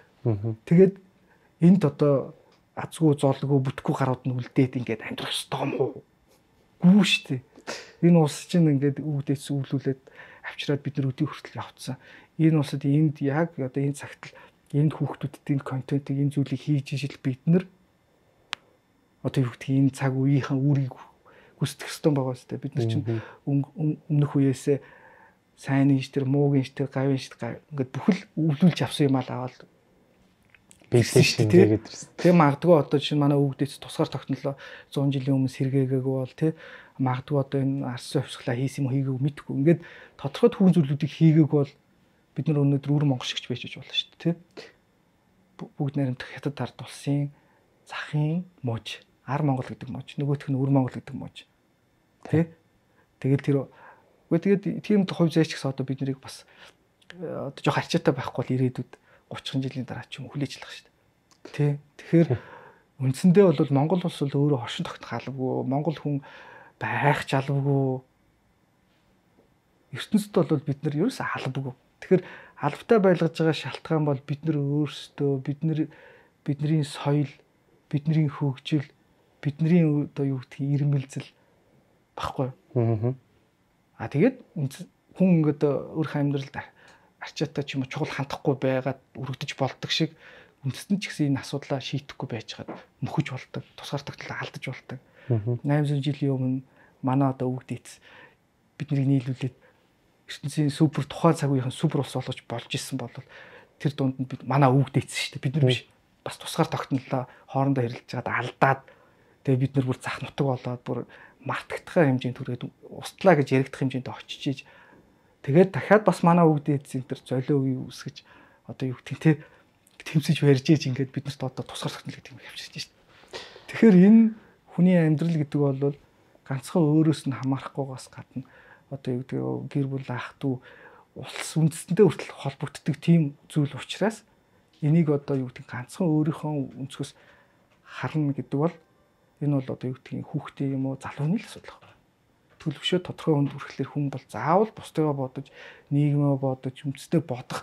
Тэгээд энд одоо азгүй золгүй бүтггүй гарууд нь үлдээд ингээд амьдрах ёстой юм уу? Гүү штэ. Энэ улс чинь ингээд үүдээс үүлүүлээд авчираад бид нар өдөө хүртэл явцсан. Энэ улсад энд яг одоо энэ цагт энд хүүхдүүдэд энэ контентыг энэ зүйлийг хийж ижил бид нар одоо юу гэдэг энэ цаг үеийнхэн үрийг гүйцэтгэх ёстой байгаа штэ. Бид нар чинь өмнөх үеэсээ сайн нэж тэр муугийн ш тэр гавийн ш ингээд бүхэл өвлүүлж авсан юм аа аваад бэлсэн шүү дээ гэдэг. Тэг магадгүй одоо чинь манай өвгдөөс тусгаар тогтнолоо зуун жилийн өмнө сэргээгээгүй бол тий магадгүй одоо энэ арсын хувьсгалаа хийсэн юм хийгээгүй мэдгүй. Ингээд тодорхой түүхэн зүйлүүдийг хийгээг бол бид нар өнөөдөр үр монгол шигч байж болно шүү дээ тий. Бүгд найрамдах хятад ард улсын захын мууж, ар монгол гэдэг мууж, нөгөөх нь үр монгол гэдэг мууж. Тий. Тэгэл тэр үгүй тэгээд тийм хувь зээч гэсэн одоо бид нарыг бас одоо жоох арчаатай байхгүй бол ирээдүйд гучин жилийн дараа ч юм хүлээж авах шүү дээ. Тий. Тэгэхээр үндсэндээ бол Монгол улс бол өөрөө хоршин тогтнох албагүй, Монгол хүн байх ч албагүй. ертөнцид бол бид нар ерөөсөө албагүй. Тэгэхээр албатай байлгаж байгаа шалтгаан бол бид нар өөрсдөө, бид нар бидний соёл, бидний хөгжил, бидний одоо юу гэх юм ирмэлзэл баггүй. Аа. А тэгээд хүн ингээд өөрийнхөө амьдралд арчаатай ч юм уу чухал хандахгүй байгаад өргөдөж болдог шиг үндэстэн ч гэсэн энэ асуудлаа шийдэхгүй байж хаад мөхөж болдог, тусгаар тогтлоо алдаж болдог. найман зуун жилийн өмнө манай одоо өвгдээц биднийг нийлүүлээд ертөнцийн супер тухайн цаг үеийн супер улс болгож болж исэн бол тэр дунд нь бид манай өвгдээц шүү дээ. Бид нар биш. Бас тусгаар тогтнолоо хоорондоо хэрэлдэж чад алдаад тэгээ бид нар бүр зах нутаг болоод бүр мартагдах хэмжээнд түрээд устлаа гэж яригдах хэмжээнд очиж тэгээд дахиад бас манай өвгдээц энэ төр золио үе үсгэж одоо юу гэх тийм тэмцэж барьж ийж ингээд бид нарт одоо тусгаар тогтнол гэдэг юм явчихж шүү дээ. Тэгэхээр энэ хүний амьдрал гэдэг бол ганцхан өөрөөс нь хамаарахгүйгаас гадна одоо юу гэдэг гэр бүл ах дүү улс үндэстэндээ хүртэл холбогддог тийм зүйл учраас энийг одоо юу гэдэг ганцхан өөрийнхөө өнцгөөс харна гэдэг бол энэ бол одоо юу гэдэг хүүхдээ юм уу залууны л асуудал байна. Төлөвшөө тодорхой хүнд хүрэхлээр хүн бол заавал бусдыгаа бодож, нийгмээ бодож, үндэстэй бодох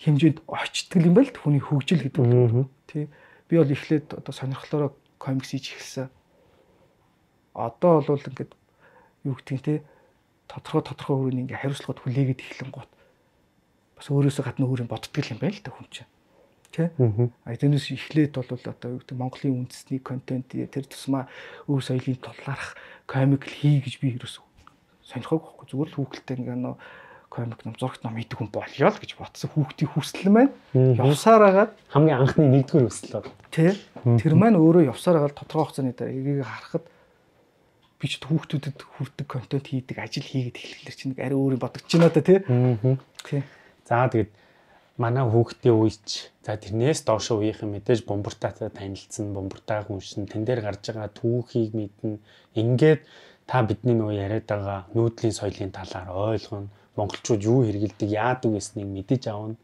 хэмжээнд очтгол юм байл хүний хөгжил гэдэг үг. Тий. Би бол эхлээд одоо сонирхлоороо комикс хийж эхэлсэн. Одоо бол ингээд юу гэдэг те тодорхой тодорхой өөрийн ингээ хариуцлагад хүлээгээд эхлэн гот бас өөрөөсөө гадна өөрийн боддгол юм байл та хүн чинь. Тэ? А тэрнээс эхлээд бол одоо юу гэдэг Монголын үндэсний контент тэр тусмаа өв соёлын тулаарх комик хий гэж би ерөөсөө сонирхоогүй байхгүй. Зүгээр л хүүхэлтэй ингээ нөө комик ном зурагт ном хийдэг хүн болёо л гэж бодсон. Хүүхдийн хүсэл маань явсаар агаад хамгийн анхны нэгдүгээр хүсэл бол тэ. Тэр маань өөрөө явсаар агаад тодорхой хугацааны дараа эгийг харахад би ч хүүхдүүдэд хүрдэг контент хийдэг ажил хийгээд эхлэхлээр чинь арай өөрийн бодогч байна да тий. Тий. За тэгээд манай хүүхдийн үеч за тэрнээс доош үеийнхэн мэдээж бомбортаатай танилцсан, бомбортаа хүншин тэн дээр гарч байгаа түүхийг мэднэ. Ингээд та бидний нөгөө яриад байгаа нүүдлийн соёлын талаар ойлгоно. Монголчууд юу хэрэгэлдэг, яадаг гэснийг мэдэж авна.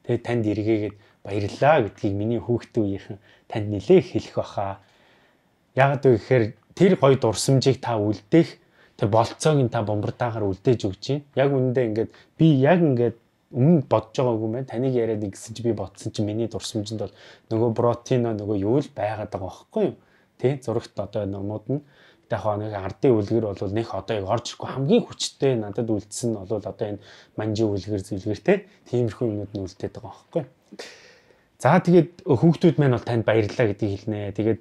Тэгээд танд эргээгээд баярлалаа гэдгийг миний хүүхдийн үеийнхэн танд нэлээх хэлэх баха. Яагаад вэ гэхээр тэр гоё дурсамжийг та үлдээх тэр болцоог нь та бомбортаагаар үлдээж өгч чинь. Яг үүндээ ингээд би яг ингээд өмнө бодож байгаагүй мэн таныг яриад ингэсэн чи би бодсон чи миний дурсамжинд бол нөгөө протеино нөгөө юу л байгаад байгаа байхгүй юу? Тэ зурагт одоо номууд нь яг нэг ардын үлгэр бол нэг одоо яг орж ирэхгүй хамгийн хүчтэй надад үлдсэн нь бол одоо энэ манжи үлгэр зүйлгэр тэ тиймэрхүү юмуд нь үлдээд байгаа байхгүй юу? За тэгээд хүүхдүүд маань бол танд баярлалаа гэдгийг хэлнэ. Тэгээд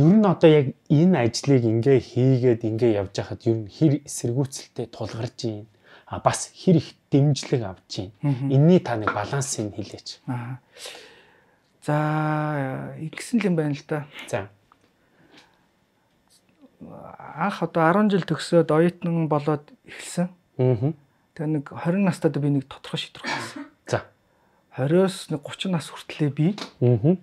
ер нь одоо яг энэ ажлыг ингээ хийгээд ингээ явж байхад ер нь хэр эсэргүүцэлтэй тулгарч байна. А бас хэр их дэмжлэг авч байна. Энийний та нэг балансыг хэлээч. Аа. За ингэсэн юм байна л да. За. Анх одоо арван жил төгсөөд оюутан болоод эхэлсэн. Аа. Тэгээ нэг хорин настад би нэг тодорхой шийдвэр гаргасан. За. хориос нэг гурван нас хүртлээр би Аа.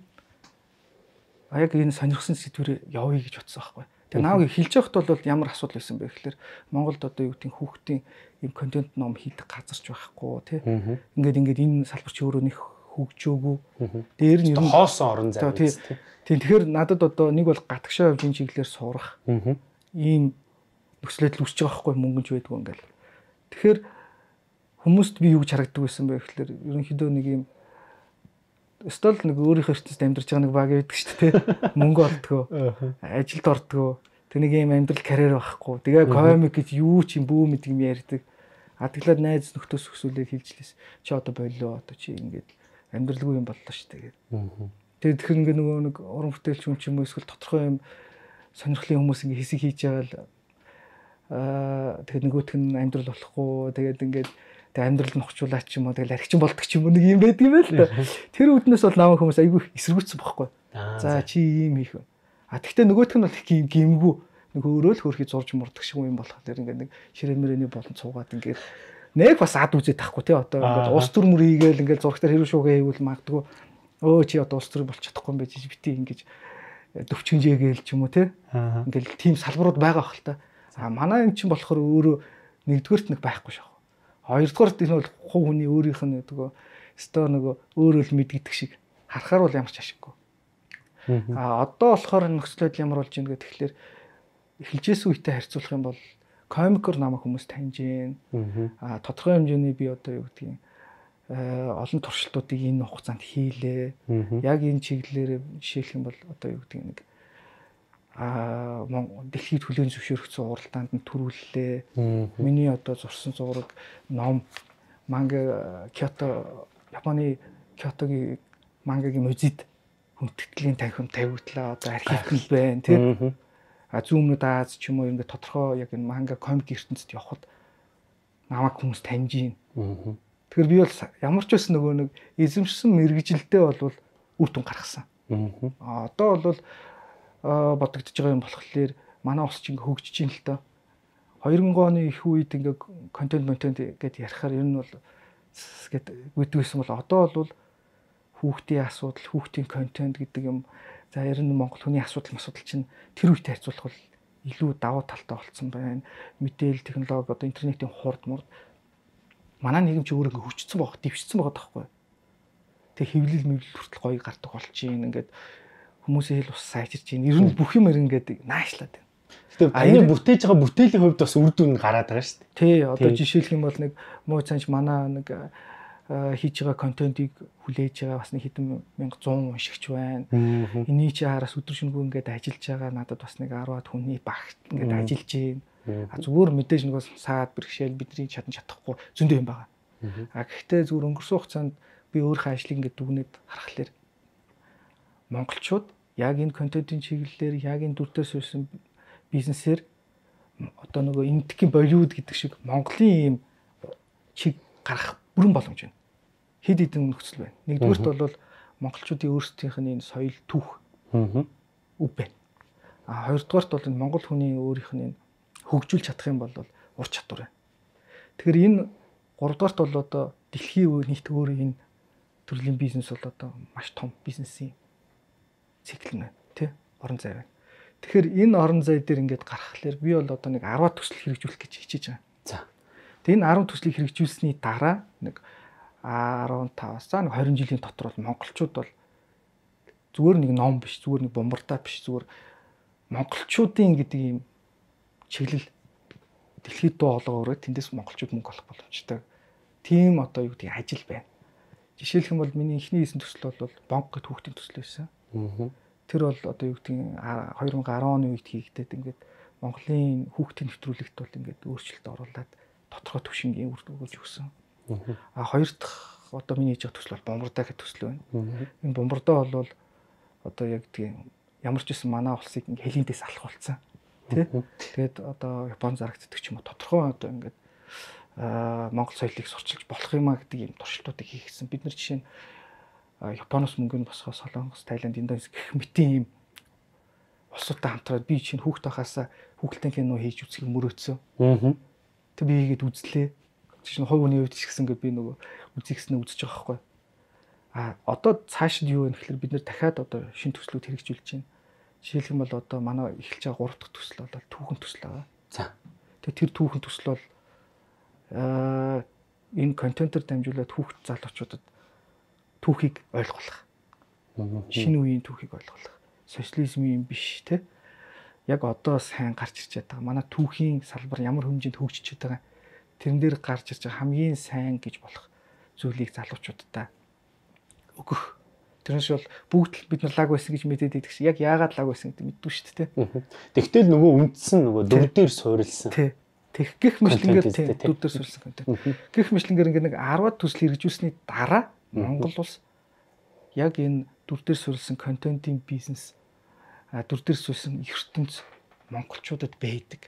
А яг энэ сонирхсан сэдвээр явъя гэж бодсон байхгүй. Тэгээ нааг хэлж явахд бол ямар асуудал байсан бэ гэхээр Монголд одоо юу гэдэг хүүхдийн юм контент ном хийдэг газарч байхгүй тий. Ингээд ингээд энэ салбар чи өөрөө нэг хөгжөөгүй. Дээр нь ер нь хоосон орон зай тий. Тэгэхээр надад одоо нэг бол гатгшаа явж энэ чиглэлээр сурах. Ийм нөхцөлөд л үсэж байгаа байхгүй мөнгөж байдгүй ингээл. Тэгэхээр хүмүүст би юу гэж харагддаг байсан бэ гэхээр ерөнхийдөө нэг юм стол нэг өөрийнхөө ертөнцид амьдарч байгаа нэг баг байдаг шүү дээ. Мөнгө олдгоо. Ажилд ордгоо. Тэг нэг юм амьдрал карьер байхгүй. Тэгээ комик гэж юу ч юм бүү мэд юм ярьдаг. Адаглаад найз нөхдөс өсвөлээ хэлжлээс. Чи одоо боллоо. Одоо чи ингээд амьдралгүй юм боллоо шүү дээ. Тэгээд тэгэхээр ингээд нөгөө нэг уран бүтээлч юм ч юм уу эсвэл тодорхой юм сонирхлын хүмүүс ингээд хэсэг хийж байгаа л аа тэгээд нөгөөх нь амьдрал болохгүй. Тэгээд ингээд тэг амьдрал нь ухчуулаач юм уу тэгэл архичин болдог ч юм уу нэг юм байдаг юм байл та. Тэр үднээс бол намайг хүмүүс айгүй эсэргүүцсэн бохгүй. За чи ийм хийх. А тэгтээ нөгөөх нь бол их гимгүү нэг өөрөө л хөрхий зурж мурдаг шиг юм болох тэр ингээд нэг ширэмэрэний болон цуугаад ингээд нэг бас ад үзээд тахгүй тий одоо ингээд ус төр мөр хийгээл ингээд зурагтаар хэрэг шуугаа хийвэл магадгүй өө чи одоо ус төр болж чадахгүй юм байж бити ингэж төвчгөнжээгээл ч юм уу тий ингээд тийм салбарууд байгаа бах л та. А манай юм чинь болохоор өөрөө нэгдүгээрт нэг байхгүй шээ. Хоёрдугаарт энэ бол хувь хүний өөрийнх нь нөгөө өстой нөгөө өөрөө л мэдгийдэг шиг харахаар бол ямар ч ашиггүй. А одоо болохоор нөхцөлөд ямар болж байна гэх тэгэхээр эхэлжсэн үетэй харьцуулах юм бол комикор намайг хүмүүс таньж байна. А тодорхой хэмжээний би одоо юу гэдгийг олон туршилтуудыг энэ хугацаанд хийлээ. Яг энэ чиглэлээр жишээлх юм бол одоо юу гэдгийг нэг а дэлхийд хүлээн зөвшөөрөгдсөн уралдаанд нь төрүүллээ. Миний одоо зурсан зураг, ном, манга Кёто, Японы Кётогийн мангагийн музейд хүндэтгэлийн танхим тавигдлаа. Одоо архив байна тийм. А зүүмнүүд Аз ч юм уу ингээд тодорхой яг энэ манга комик ертөнцид явхад намайг хүмүүс таньж байна. Тэгэхээр би бол ямар ч байсан нөгөө нэг эзэмшсэн мэрэгжилдээ бол үр дүн гаргасан. А одоо бол бодогдож байгаа юм болохоор манай ус чинь хөгжиж ин л та. хоёр мянган оны их үед ингээ контент контент гэдээ ярихаар ер нь бол гэд үүдгүйсэн бол одоо бол хүүхдийн асуудал, хүүхдийн контент гэдэг юм. За ер нь Монгол хүний асуудал асуудал чинь тэр үетэй харьцуулах бол илүү давуу талтай болцсон байна. Мэдээлэл технологи одоо интернетийн хурд мурд манай нийгэм чи өөрөө хөгжсөн байх, дэвшсэн байгаа таахгүй. Тэг хэвлэл мэвлэл хүртэл гоё гардаг болж ийн ингээд хүмүүсийн хэл ус сайжирч байна. Ер нь бүх юм ингээд наашлаад байна. Гэтэ аяны бүтээж байгаа бүтээлийн хувьд бас үр дүн гараад байгаа шүү дээ. Тий, одоо жишээлх юм бол нэг муу цанч манай нэг хийж байгаа контентыг хүлээж байгаа бас нэг хэдэн мянга зуун уншигч байна. Эний чи хараас өдөр шөнөгүй ингээд ажиллаж байгаа надад бас нэг арваад хүний багт ингээд ажиллаж байна. А зүгээр мэдээж нэг саад бэрхшээл бидний чадан чадахгүй зөндөө юм байгаа. А гэхдээ зүгээр өнгөрсөн хугацаанд би өөрийнхөө ажлыг ингээд дүгнээд харахаар монголчууд яг энэ контентын чиглэлээр яг энэ дүр төрс үүсэн бизнесээр одоо нөгөө энэтхийн Болливуд гэдэг шиг Монголын ийм чиг гарах бүрэн боломж байна. Хэд хэдэн нөхцөл байна. Нэгдүгээрт бол монголчуудын өөрсдийнх нь энэ соёл түүх өв байна. А хоёрдугаарт бол энэ монгол хүний өөрийнх нь энэ хөгжүүлж чадах юм бол ур чадвар байна. Тэгэхээр энэ гуравдугаарт бол одоо дэлхийн нийт өөр энэ төрлийн бизнес бол одоо маш том бизнесийн цикл нь тий орон зай байна. Тэгэхээр энэ орон зай дээр ингээд гаргахлаар би бол одоо нэг арваад төсөл хэрэгжүүлэх гэж хичээж байгаа. За. Тэгээ энэ арван төслийг хэрэгжүүлсэний дараа нэг арван таваас за нэг хорин жилийн дотор бол монголчууд бол зүгээр нэг ном биш, зүгээр нэг бомбардаа биш, зүгээр монголчуудын гэдэг ийм чиглэл дэлхийд дуу хоолой өрөө тэндээс монголчууд мөнгө олох боломжтой. Тийм одоо юу гэдэг ажил байна. Жишээлх юм бол миний эхний хийсэн төсөл бол бонк гэд хүүхдийн төсөл байсан. Тэр бол одоо юу гэдэг хоёр мянган и арван оны үед хийгдээд ингээд Монголын хүүхдийн нэвтрүүлэгт бол ингээд өөрчлөлт оруулаад тодорхой түвшингийн үр дүн өгж өгсөн. А хоёр дахь одоо миний хийж байгаа төсөл бол бомбардаа гэх төсөл байна. Энэ бомбардаа бол одоо яг тийм ямар ч байсан манай улсыг ингээ хэлийдээс алах болсон. Тэ. Тэгээд одоо Япон зарагддаг ч юм уу тодорхой одоо ингээд аа Монгол соёлыг сурчилж болох юм а гэдэг юм туршилтуудыг хийгсэн. Бид нар жишээ нь Японоос мөнгө нь босгоо Солонгос, Тайланд, Индонез гэх мэтийн юм улсуудтай хамтраад би чинь хүүхд байхаас хүүхэлдэйн кино хийж үзхийг мөрөөдсөн. Аа. Тэг би хийгээд үзлээ. Жишээ нь хувь хүний хувьд ч гэсэн ингээд би нөгөө үзихснээ үзэж байгаа байхгүй. А одоо цаашид юу вэ гэхээр бид нэр дахиад одоо шинэ төслүүд хэрэгжүүлж байна. Жишээлх юм бол одоо манай эхэлж байгаа гурав дахь төсөл бол түүхэн төсөл байгаа. За. Тэгээ тэр түүхэн төсөл бол аа энэ контентоор дамжуулаад хүүхд залуучуудад түүхийг ойлгуулах. Шинэ үеийн түүхийг ойлгуулах. Социализмын биш те. Яг одоо сайн гарч ирж байгаа. Манай түүхийн салбар ямар хэмжээнд хөгжиж байгаа. Тэрэн дээр гарч ирж байгаа хамгийн сайн гэж болох зүйлийг залуучуудаа өгөх. Тэрнээс бол бүгд бид нар лаг байсан гэж мэдээд идэх шиг яг яагаад лаг байсан гэдэг мэддүү шүү дээ. Тэгтэл нөгөө үндсэн нөгөө дүр дээр суурилсан. Тий. Тэг гих мэтлэнгээр тий дүр дээр суурилсан контент. Гих мэтлэнгээр ингээ нэг десять төсөл хэрэгжүүлсний дараа Монгол улс яг энэ дүр дээр суурилсан контентын бизнес дүр дээр суурилсан ертөнц монголчуудад байдаг.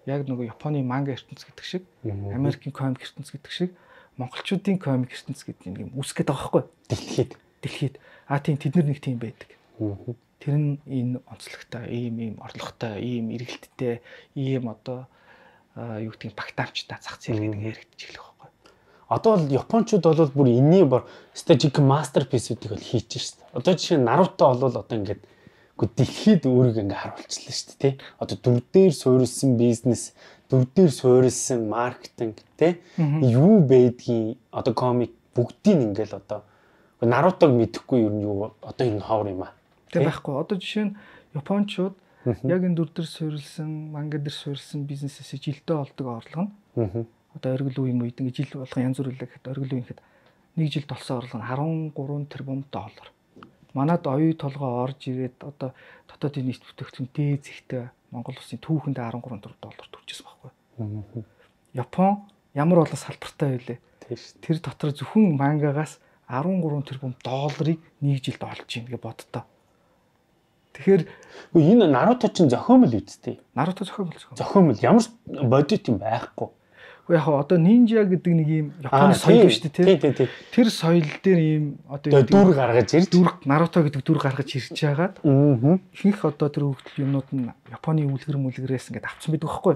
Яг нөгөө Японы манга ертөнц гэдэг шиг, Америкийн комик ертөнц гэдэг шиг монголчуудын комик ертөнц гэдэг юм үсгээд байгаа байхгүй. Дэлхийд дэлхийд а тийм тэд нар нэг тийм байдаг. Тэр нь энэ онцлогтой, ийм ийм орлоготой, ийм эргэлттэй, ийм одоо юу гэдгийг багтаамжтай зах зээл гэдэг яригдчих эхлэх байхгүй. Одоо бол японочууд бол бүр энэний бор стратеги мастерписүүдийг бол хийж шээ. Одоо жишээ нь Наруто бол одоо ингээд үгүй дэлхийд өөрийгөө ингээ харуулчихлаа шүү дээ, тий. Одоо дүр дээр суурилсан бизнес, дүр дээр суурилсан маркетинг, тий. Юу байдгийг одоо комик бүгдийг ингээл одоо Нарутог мэдэхгүй юу юу одоо энэ ховор юм аа. Тэг байхгүй. Одоо жишээ нь японочууд яг энэ дүр дээр суурилсан, манга дээр суурилсан бизнесээс жилдээ олдог орлого нь одоо оргил үеийн үед ингээ жил болгон янз бүр үлээ гэхэд оргил үеийнхэд нэг жилд олсон орлого нь арван гурван тэрбум доллар. Манад оюу толгой орж ирээд одоо дотоодын нийт бүтээгдэхүүн дээд зэгтээ Монгол улсын түүхэнд арван гурван тэрбум доллар төрчихсөн байхгүй. Япон ямар болон салбартай байлээ. Тэр дотор зөвхөн мангагаас арван гурван тэрбум долларыг нэг жилд олж ийн гэж боддоо. Тэгэхээр энэ Наруто чинь зохиомл үсттэй. Наруто зохиомл зохиомл. Зохиомл ямар бодит юм байхгүй. Яг одоо нинжа гэдэг нэг юм Японы соёл шүү дээ, тий. Тэр соёл дээр ийм одоо дүр гаргаж ирж дүр Наруто гэдэг дүр гаргаж ирж байгаад ихэнх одоо тэр хөгжил юмнууд нь Японы үлгэр мүлгэрээс ингээд авсан байдаг байхгүй.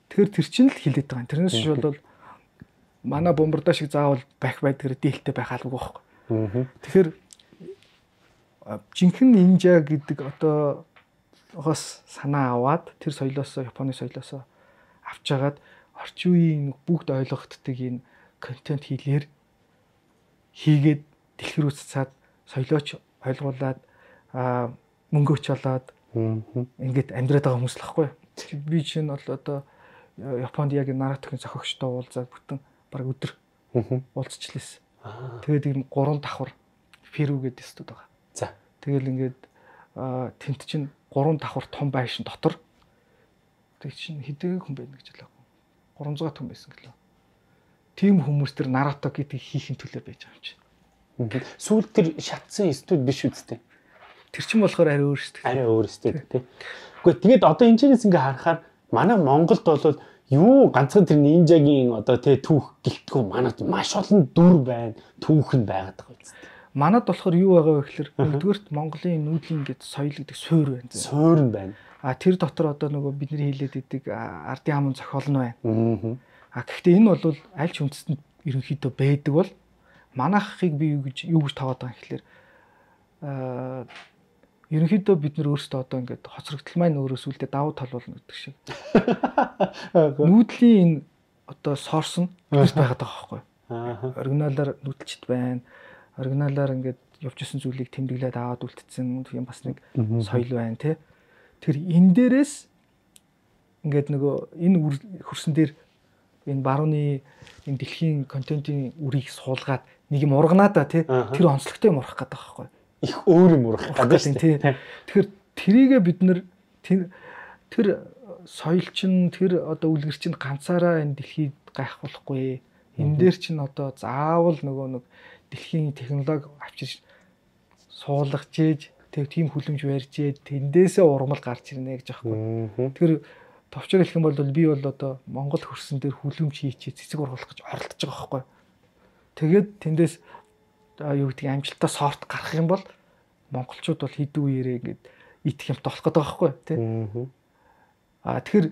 Тэгэхээр тэр чинь л хилээд байгаа. Тэрнээс ч бол манай бомбарда шиг заавал байх байдгаар дээлтэй байх албагүй байхгүй. Тэгэхээр жинхэнэ нинжа гэдэг одоо хос санаа аваад тэр соёлоос Японы соёлоос авч жагаад орчин үеийн бүгд ойлгогддог энэ контент хийлээр хийгээд дэлгэр үсцээд соёлооч ойлгуулад мөнгөөч олоод ингээд амьдраад байгаа хүмүүс л байхгүй. Би чинь бол одоо Японд яг Нарутогийн зохиогчтой уулзаад бүтэн баг өдөр уулзчихлээсэн. Тэгээд ийм гурван давхар Феру гэдэг студ байгаа. За. Тэгэл ингээд тент чинь гурван давхар том байшин дотор тэг чинь хэдэн хүн байна гэж хэлээ. гурван зуун хүн байсан гэлээ. Тим хүмүүс тэр Наруто гэдэг хийхин төлөө байж байгаа юм чинь. Сүүл тэр шатсан студ биш үстэй. Тэр чинь болохоор арай өөр шүү дээ. Арай өөр студ тий. Гэхдээ тэгээд одоо энэ чэнэс ингээ харахаар манай Монголд бол юу ганцхан тэр нинжагийн одоо тий түүх гэлтгүү манад маш олон дүр байна, түүх нь байгаад байгаа үстэй. Манад болохоор юу байгаа вэ гэхээр нэгдүгээрт Монголын нүүдлийн ингээд соёл гэдэг суурь байна. Суурь нь байна. А тэр дотор одоо нөгөө бидний хэлээд идэг ардын хамын зохиол нь байна. А гэхдээ энэ бол аль ч үндэстэнд ерөнхийдөө байдаг бол манайхыг би юу гэж юу гэж таваад байгаа юм гэхээр а ерөнхийдөө бид нар өөрсдөө одоо ингээд хоцрогдол маань өөрөөс үлдээ давуу тал болно гэдэг шиг. Нүүдлийн энэ одоо сорс нь бид байгаад байгаа байхгүй. Оригиналаар нүүдэлчд байна. Оригиналаар ингээд явж исэн зүйлийг тэмдэглээд аваад үлдсэн юм бас нэг соёл байна тий. Тэр энэ дээрээс ингээд нөгөө энэ хөрсөн дээр энэ барууны энэ дэлхийн контентын үрийг суулгаад нэг юм урганаа да тий. Тэр онцлогтой юм урах гэдэг байгаа байхгүй. Их өөр юм урах гэдэг шүү дээ. Тэгэхээр тэрийгэ бид нэр тэр тэр соёл чинь тэр одоо үлгэр чинь ганцаараа энэ дэлхийд гайх болохгүй. Энэ дээр чинь одоо заавал нөгөө нэг дэлхийн технологи авчирч суулгаж ээж тэг тийм хүлэмж барьжээ тэндээсээ урмал гарч ирнэ гэж аахгүй. Тэгэхээр товчоор хэлэх юм бол би бол одоо Монгол хөрсөн дээр хүлэмж хийчээ цэцэг ургуулах гэж оролдож байгаа байхгүй. Тэгээд тэндээс юу гэдэг амжилтаа сорт гарах юм бол монголчууд бол хэдэн үеэрээ ингээд идэх юмт болох гэдэг байхгүй тий. Аа тэгэхээр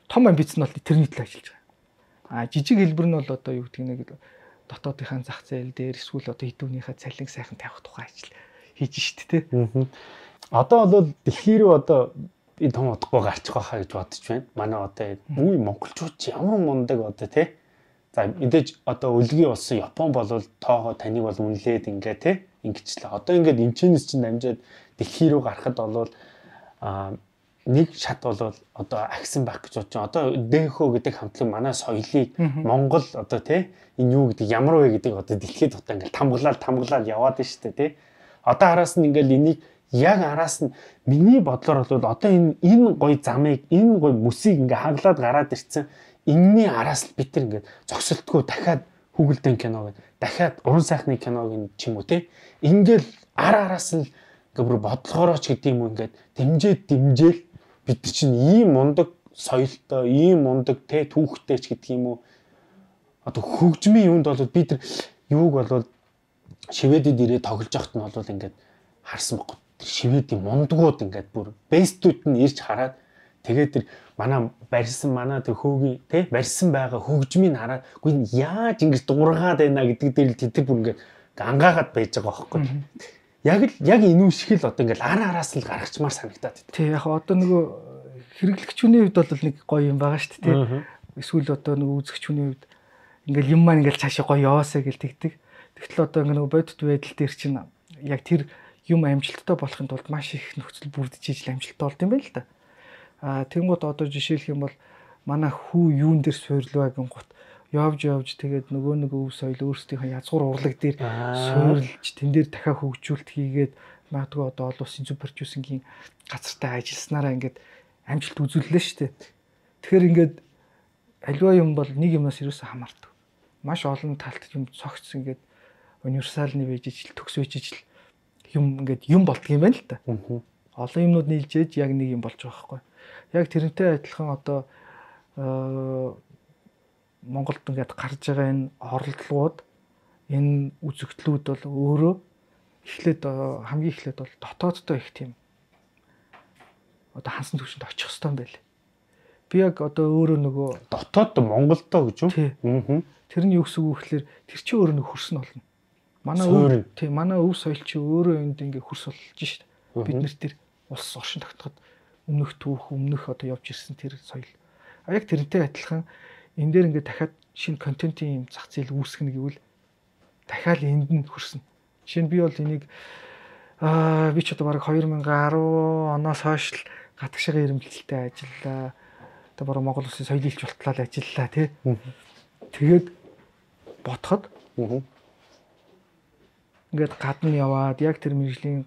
том амбиц нь бол тэрний төлөө ажиллаж байгаа. Аа жижиг хэлбэр нь бол одоо юу гэдэг нэг дотоодынхаа зах зээл дээр эсвэл одоо хэдүүнийхээ цалин сайхан тавих тухай ажил хийж штт тий. Одоо бол дэлхий рүү одоо би том удахгүй гарчих байхаа гэж бодож байна. Манай одоо үе монголчууд ямар мундаг одоо тий. За мэдээж одоо өлгийн болсон Япон бол тоогоо таныг бол үнэлээд ингээ тий ингэчлээ. Одоо ингээд эмчнээс чинь дамжаад дэлхий рүү гарахад бол а нэг шат бол одоо агсан байх гэж бодож байна. Одоо ДХО гэдэг хамтлаг манай соёлыг Монгол одоо тий энэ юу гэдэг ямар вэ гэдэг одоо дэлхийд одоо ингээд тамглаад тамглаад яваад байна шүү дээ тий. Одоо араас нь ингээд энийг яг араас нь миний бодлоор бол одоо энэ энэ гоё замыг энэ гоё мөсийг ингээ хаглаад гараад ирсэн. Энэний араас л бид тэр ингээд зогсолтгүй дахиад хүүгэлдэн кино гэдэг дахиад уран сайхны киног ч юм уу те ингээл ар араас нь ингээ бүр бодлогоорооч гэдэг юм уу ингээд дэмжээд дэмжээл бид чинь ийм мундаг соёлтой ийм мундаг те түүхтэй ч гэдэг юм уу одоо хөгжмийн юунд бол бид тэр юуг бол шивэдэд ирээ тоглож явахт нь бол ингээд харсан баг. Шивэдийн мундгууд ингээд бүр бэстүүд нь ирж хараад тэгээд тэр манай барьсан манай тэр хөөгийн тий барьсан байгаа хөгжмийг хараад үгүй яаж ингэж дуургаад байна гэдэг дээр л тэтгэр бүр ингээд ангаагаад байж байгаа байхгүй. Яг л яг энэ үсгэл одоо ингээд ар араас л гаргачмаар санагдаад байна. Тий яг одоо нөгөө хэрэглэгчүүний хувьд бол нэг гоё юм байгаа шүү дээ тий. Эсвэл одоо нөгөө үзэгчүүний хувьд ингээд юм маань ингээд цаашаа гоё яваасаа гэл тэгдэг. Тэгтэл одоо ингээд нөгөө бодит байдал дээр чинь яг тэр юм амжилттай болохын тулд маш их нөхцөл бүрдэж ижил амжилттай болд юм байна л да. А тэнгууд одоо жишээлх юм бол манай хүү юун дээр суйрлаа гингут явж явж тэгээд нөгөө нэг өв соёл өөрсдийнхөө язгуур урлаг дээр суйрлж тэн дээр дахиад хөгжүүлэлт хийгээд магадгүй одоо олон улсын зөв продюсингийн газартай ажилласнараа ингээд амжилт үзүүллээ шүү дээ. Тэгэхээр ингээд аливаа юм бол нэг юмнаас юусаа хамаардаг. Маш олон талт юм цогц ингээд универсалны байж ижил төгс байж ижил юм ингээд юм болдго юм байна л да. Олон юмнууд нийлжээж яг нэг юм болж байгаа байхгүй. Яг тэрнтэй адилхан одоо Монголд ингээд гарч байгаа энэ оролдлогууд энэ үзэгдлүүд бол өөрөө эхлээд хамгийн эхлээд бол дотооддоо их тийм одоо хансан төвшөнд очих хэрэгтэй юм байл. Би яг одоо өөрөө нөгөө дотоод Монголдоо гэж юу? Тэр нь юу гэсэн үг гэхээр тэр чинь өөрөө нэг хөрс нь болно. Манай өв тий манай өв соёл чи өөрөө энд ингээ хөрс болж шít. Бид нэр тэр улс оршин тогтоход өмнөх түүх өмнөх одоо явж ирсэн тэр соёл. А яг тэрнтэй адилхан энэ дээр ингээ дахиад шинэ контентын юм зах зээл үүсгэнэ гэвэл дахиад энд нь хөрснө. Жишээ нь би бол энийг аа би ч одоо бараг две тысячи десять оноос хойш л гадагшаа ирэмэлтэлтэй ажиллаа. Одоо бараг Монгол улсын соёлын илч болтлоо ажиллаа тий. Тэгээд бодоход ингээд гадна яваад яг тэр мэржлийн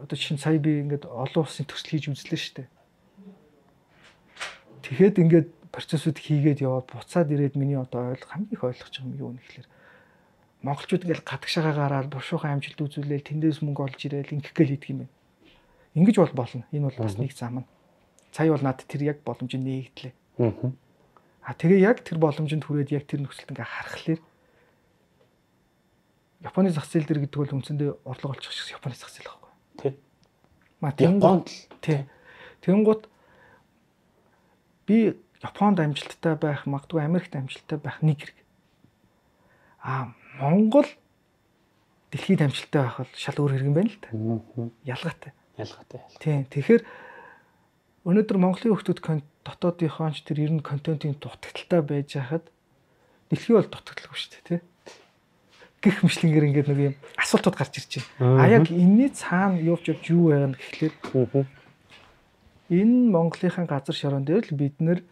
одоо чинь сая би ингээд олон улсын төсөл хийж үзлээ шүү дээ. Тэгэхэд ингээд процессыг хийгээд яваад буцаад ирээд миний одоо ойл хамгийн их ойлгож байгаа юм юу нэхлээр монголчууд ингээд гадагшаагаа гараад бушуухан амжилт үзүүлээл тэндээс мөнгө олж ирээл ингэх гээл хийдэг юм байна. Ингэж бол болно. Энэ бол бас нэг зам нь. Сая бол надад тэр яг боломжийг нээгдлээ. Аа тэгээ яг тэр боломжинд хүрээд яг тэр нөхцөлд ингээд харахаар Японы зах зээл дээр гэдэг бол үндсэндээ орлого олчих шиг Японы зах зээл байхгүй. Тий. Ма Японд тий. Тэнгууд би Японд амжилттай байх, магадгүй Америкт амжилттай байх нэг хэрэг. Аа Монгол дэлхийд амжилттай байх бол шал өөр хэрэг юм байна л та. Ялгаатай. Ялгаатай. Тий. Тэгэхээр өнөөдөр Монголын хүмүүс дотоодынхоо ч тэр ер нь контентын дутагдaltaй байж хахад дэлхий бол дутагдaltaгүй шүү дээ, тий. Гэх мэтлэнгээр ингээд нэг юм асуултууд гарч ирж байна. А яг энэний цаана явж явж юу байгааг гэхлээр энэ Монголынхаа газар шорон дээр л бид нэр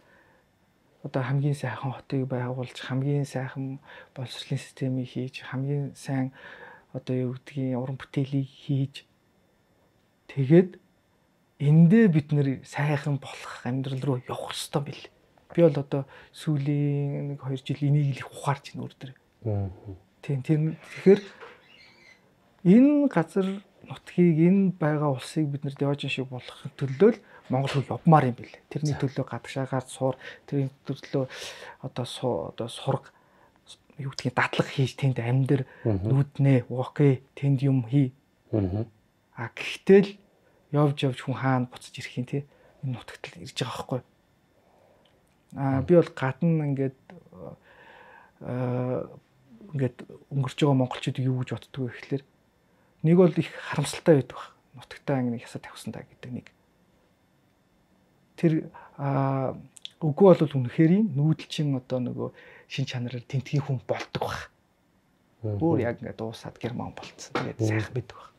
одоо хамгийн сайхан хотыг байгуулж, хамгийн сайхан боловсролын системийг хийж, хамгийн сайн одоо юу гэдгийг уран бүтээлийг хийж тэгээд эндээ бид нэр сайхан болох амьдрал руу явах хэрэгтэй бил. Би бол одоо сүүлийн нэг хоёр жил энийг л ухаарч байна өөр дээр. Тийм тийм тэгэхээр энэ газар нутгийг энэ байгаа улсыг бид нэр Диожин шиг болгохын төлөө Монгол хэл явмаар юм билээ. Тэрний төлөө гадагшаагаар суур, тэрний төлөө одоо одоо сурга юу гэдгийг дадлаг хийж тэнд амьдэр нүүднэ, окей, тэнд юм хий. А гэхдээ л явж явж хүн хаана буцаж ирэх юм те энэ нутагт л ирж байгаа байхгүй. А би бол гадна ингээд аа ингээд өнгөрч байгаа монголчууд юу гэж боддгоо гэхэлэр нэг бол их харамсалтай байдаг баг. Нутагтаа ингэ ясаа тавьсан та гэдэг нэг. Тэр аа үгүй бол үнэхээр нүүдэлчин одоо нөгөө шин чанараар тентгийн хүн болдог баг. Өөр яг ингэ дуусаад герман болцсон. Тэгээд сайхан байдаг баг.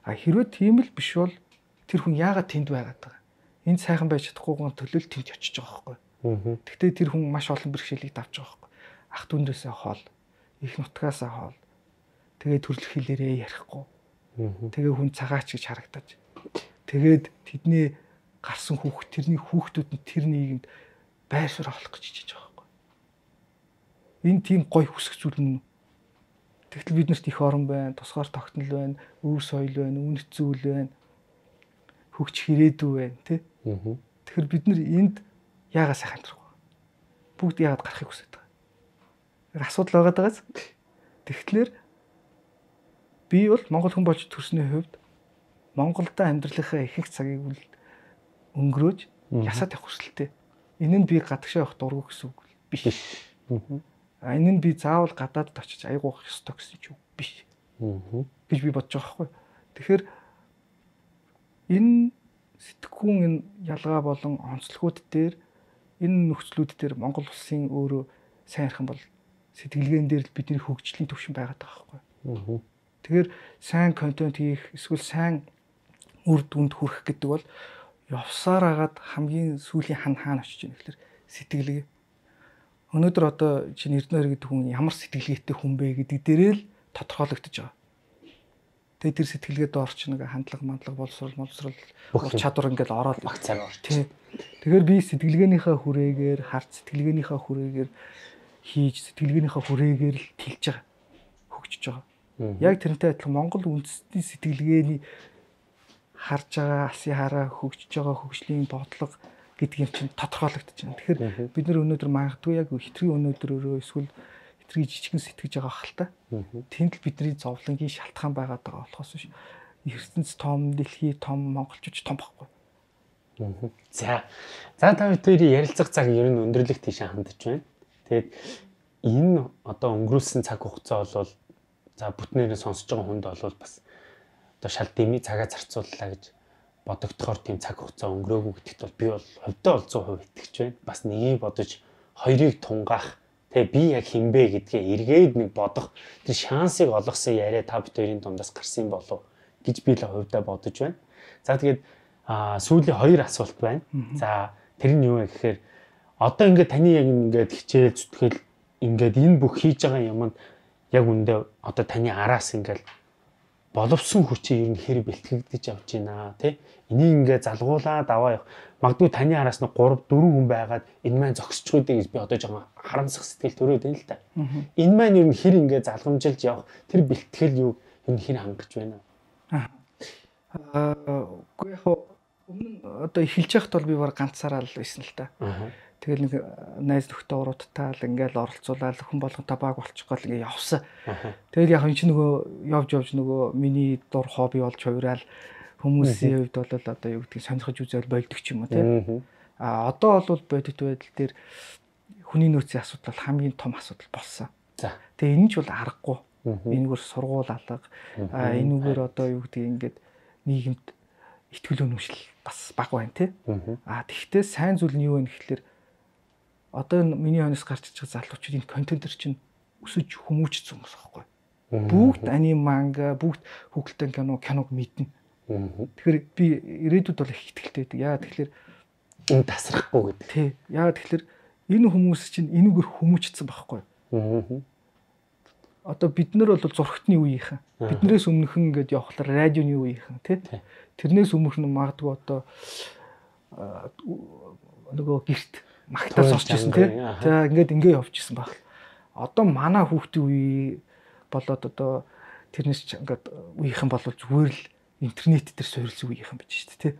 А хэрвээ тийм л биш бол тэр хүн яагаад тэнд байгаад байгаа. Энд сайхан байж чадахгүйгэн төлөөл тэнд очиж байгаа байхгүй. Гэхдээ тэр хүн маш олон бэрхшээлийг давж байгаа байхгүй. Ах дүндээсээ хоол, их нутгаасаа хоол. Тэгээд төрөлх хэлээрээ ярихгүй. Тэгээ хүн цагаач гэж харагдаж. Тэгээд тэдний гарсан хүүхд тэрний хүүхдүүд нь тэр нийгэмд байр суурь авах гэж хичээж байгаа байхгүй. Энэ тийм гой хүсэх зүйл нь. Тэгтэл биднэрт их орон байна, тусгаар тогтнол байна, өвөр соёл байна, үнэт зүйл байна. Хөгж хэрээдүү байна, тий? Тэгэхээр бид нар энд яагаад сайхан амьдрах вэ? Бүгд яагаад гарахыг хүсэж байгаа? Тэр асуудал байгаа дагаас. Тэгэхээр би бол Монгол хүн болж төрсний хувьд Монголда амьдралынхаа ихэнх цагийг үл өнгөрөөж ясаад явах хүсэлтэй. Энэ нь би гадагшаа явах дургүй гэсэн үг биш. А энэ нь би заавал гадаадд очиж аягуулах ёстой гэсэн ч үг биш. гэж би бодож байгаа байхгүй. Тэгэхээр энэ сэтгхүүн энэ ялгаа болон онцлогуд дээр энэ нөхцлүүд дээр Монгол улсын өөрөө сайн ярих юм бол сэтгэлгээн дээр л бидний хөгжлийн төвшин байгаад байгаа байхгүй. Тэгэхээр сайн контент хийх эсвэл сайн үр дүнд хүрэх гэдэг бол явсаар агаад хамгийн сүүлийн хан хаана очиж байна гэхээр сэтгэлгээ. Өнөөдөр одоо чинь Эрдэнэ гэдэг хүн ямар сэтгэлгээтэй хүн бэ гэдэг дээрээ л тодорхойлогдож байгаа. Тэгээд тэр сэтгэлгээ доорч нэг хандлага, мандлага, боловсрол, боловсрол, ур чадвар ингээл ороод багцаар орж. Тий. Тэгэхээр би сэтгэлгээнийхээ хүрээгээр, харц сэтгэлгээнийхээ хүрээгээр хийж, сэтгэлгээнийхээ хүрээгээр л тэлж байгаа. Хөгжиж байгаа. Яг тэрнтэй адилхан Монгол үндэстний сэтгэлгээний харж байгаа, алсын хараа хөгжиж байгаа хөгжлийн бодлого гэдэг юм чинь тодорхойлогдож байна. Тэгэхээр бид нар өнөөдөр магадгүй яг хитрхи өнөөдрөөрөө эсвэл хитрхи жижигэн сэтгэж байгаа хэл та. Тэнд л бидний зовлонгийн шалтгаан байгаад байгаа болохоос биш. ертөнц том, дэлхий том, монголчууд том байхгүй. За. За та бүхэн ярилцах цаг ер нь өндөрлөх тийшээ хандж байна. Тэгээд энэ одоо өнгөрүүлсэн цаг хугацаа бол за бүтнээрээ сонсож байгаа хүнд бол бас одоо шал дэмий цагаа зарцууллаа гэж бодогдохоор тийм цаг хугацаа өнгөрөөгүй гэдэгт бол би бол хувьдаа бол сто процент итгэж байна. Бас нэгийг бодож хоёрыг тунгаах тэгээ би яг хинбэ гэдгээ эргээд нэг бодох тэр шансыг олгосон яриа та бүхэн дундаас гарсан болов гэж би л хувьдаа бодож байна. За тэгээд а сүүлийн хоёр асуулт байна. За тэр нь юу вэ гэхээр одоо ингээд таны яг ингээд хичээл зүтгэл ингээд энэ бүх хийж байгаа юмд яг үндэ одоо таны араас ингээд боловсон хүчээ ер нь хэр бэлтгэгдэж авч байна тий. Энийг ингээд залгуулаад аваа явах. Магадгүй таны араас нь гурав дөрвөн хүн байгаад энэ маань зогсчих үдэ гэж би одоо жоохон харамсах сэтгэл төрөөд байна л та. Энэ маань ер нь хэр ингээд залгамжилж явах тэр бэлтгэл юу ер нь хэр хангаж байна. Аа үгүй яг өмнө одоо эхэлж байхад бол би баг ганцаараа л байсан л та. Тэгэл нэг найз нөхдөд уруудтаа л ингээл оролцуулаад хүн болгонтой баг болчих гол ингээ явсан. Тэгэл яг энэ ч нөгөө явж явж нөгөө миний дур хобби болж хувираал хүмүүсийн хувьд бол одоо юу гэдгийг сонирхож үзэл болдог ч юм уу тий. А одоо бол бодит байдал дээр хүний нөөцийн асуудал хамгийн том асуудал болсон. За. Тэгээ энэ ч бол аргагүй. Энэгээр сургуул алга. А энэгээр одоо юу гэдгийг ингээд нийгэмд итгэл үнэмшил бас бага байна тий. А тэгвэл сайн зүйл нь юу вэ гэхэлэр одоо миний хонос гарч иж байгаа залуучууд энэ контентер чинь өсөж хүмүүжсэн хүмүүс байхгүй. Бүгд аним манга, бүгд хүүхэлдэйн кино, киног мэднэ. Тэгэхээр би ирээдүйд бол их ихтэй байдаг. Яа тэгэхээр энэ тасрахгүй гэдэг. Тий. Яа тэгэхээр энэ хүмүүс чинь энүүгээр хүмүүжсэн байхгүй. Одоо бид нар бол зурхтны үеийнхэн. Биднээс өмнөхөн ингээд явхлаар радионы үеийнхэн тий. Тэрнээс өмнөх нь магадгүй одоо нөгөө гэрт магтаас орж ирсэн тий. За ингээд ингээ явж ирсэн баг. Одоо манай хүүхдийн үе болоод одоо тэрнээс ингээд үеийнхэн бол зүгээр л интернет дээр суурилсан үеийнхэн байж шүү дээ, тий.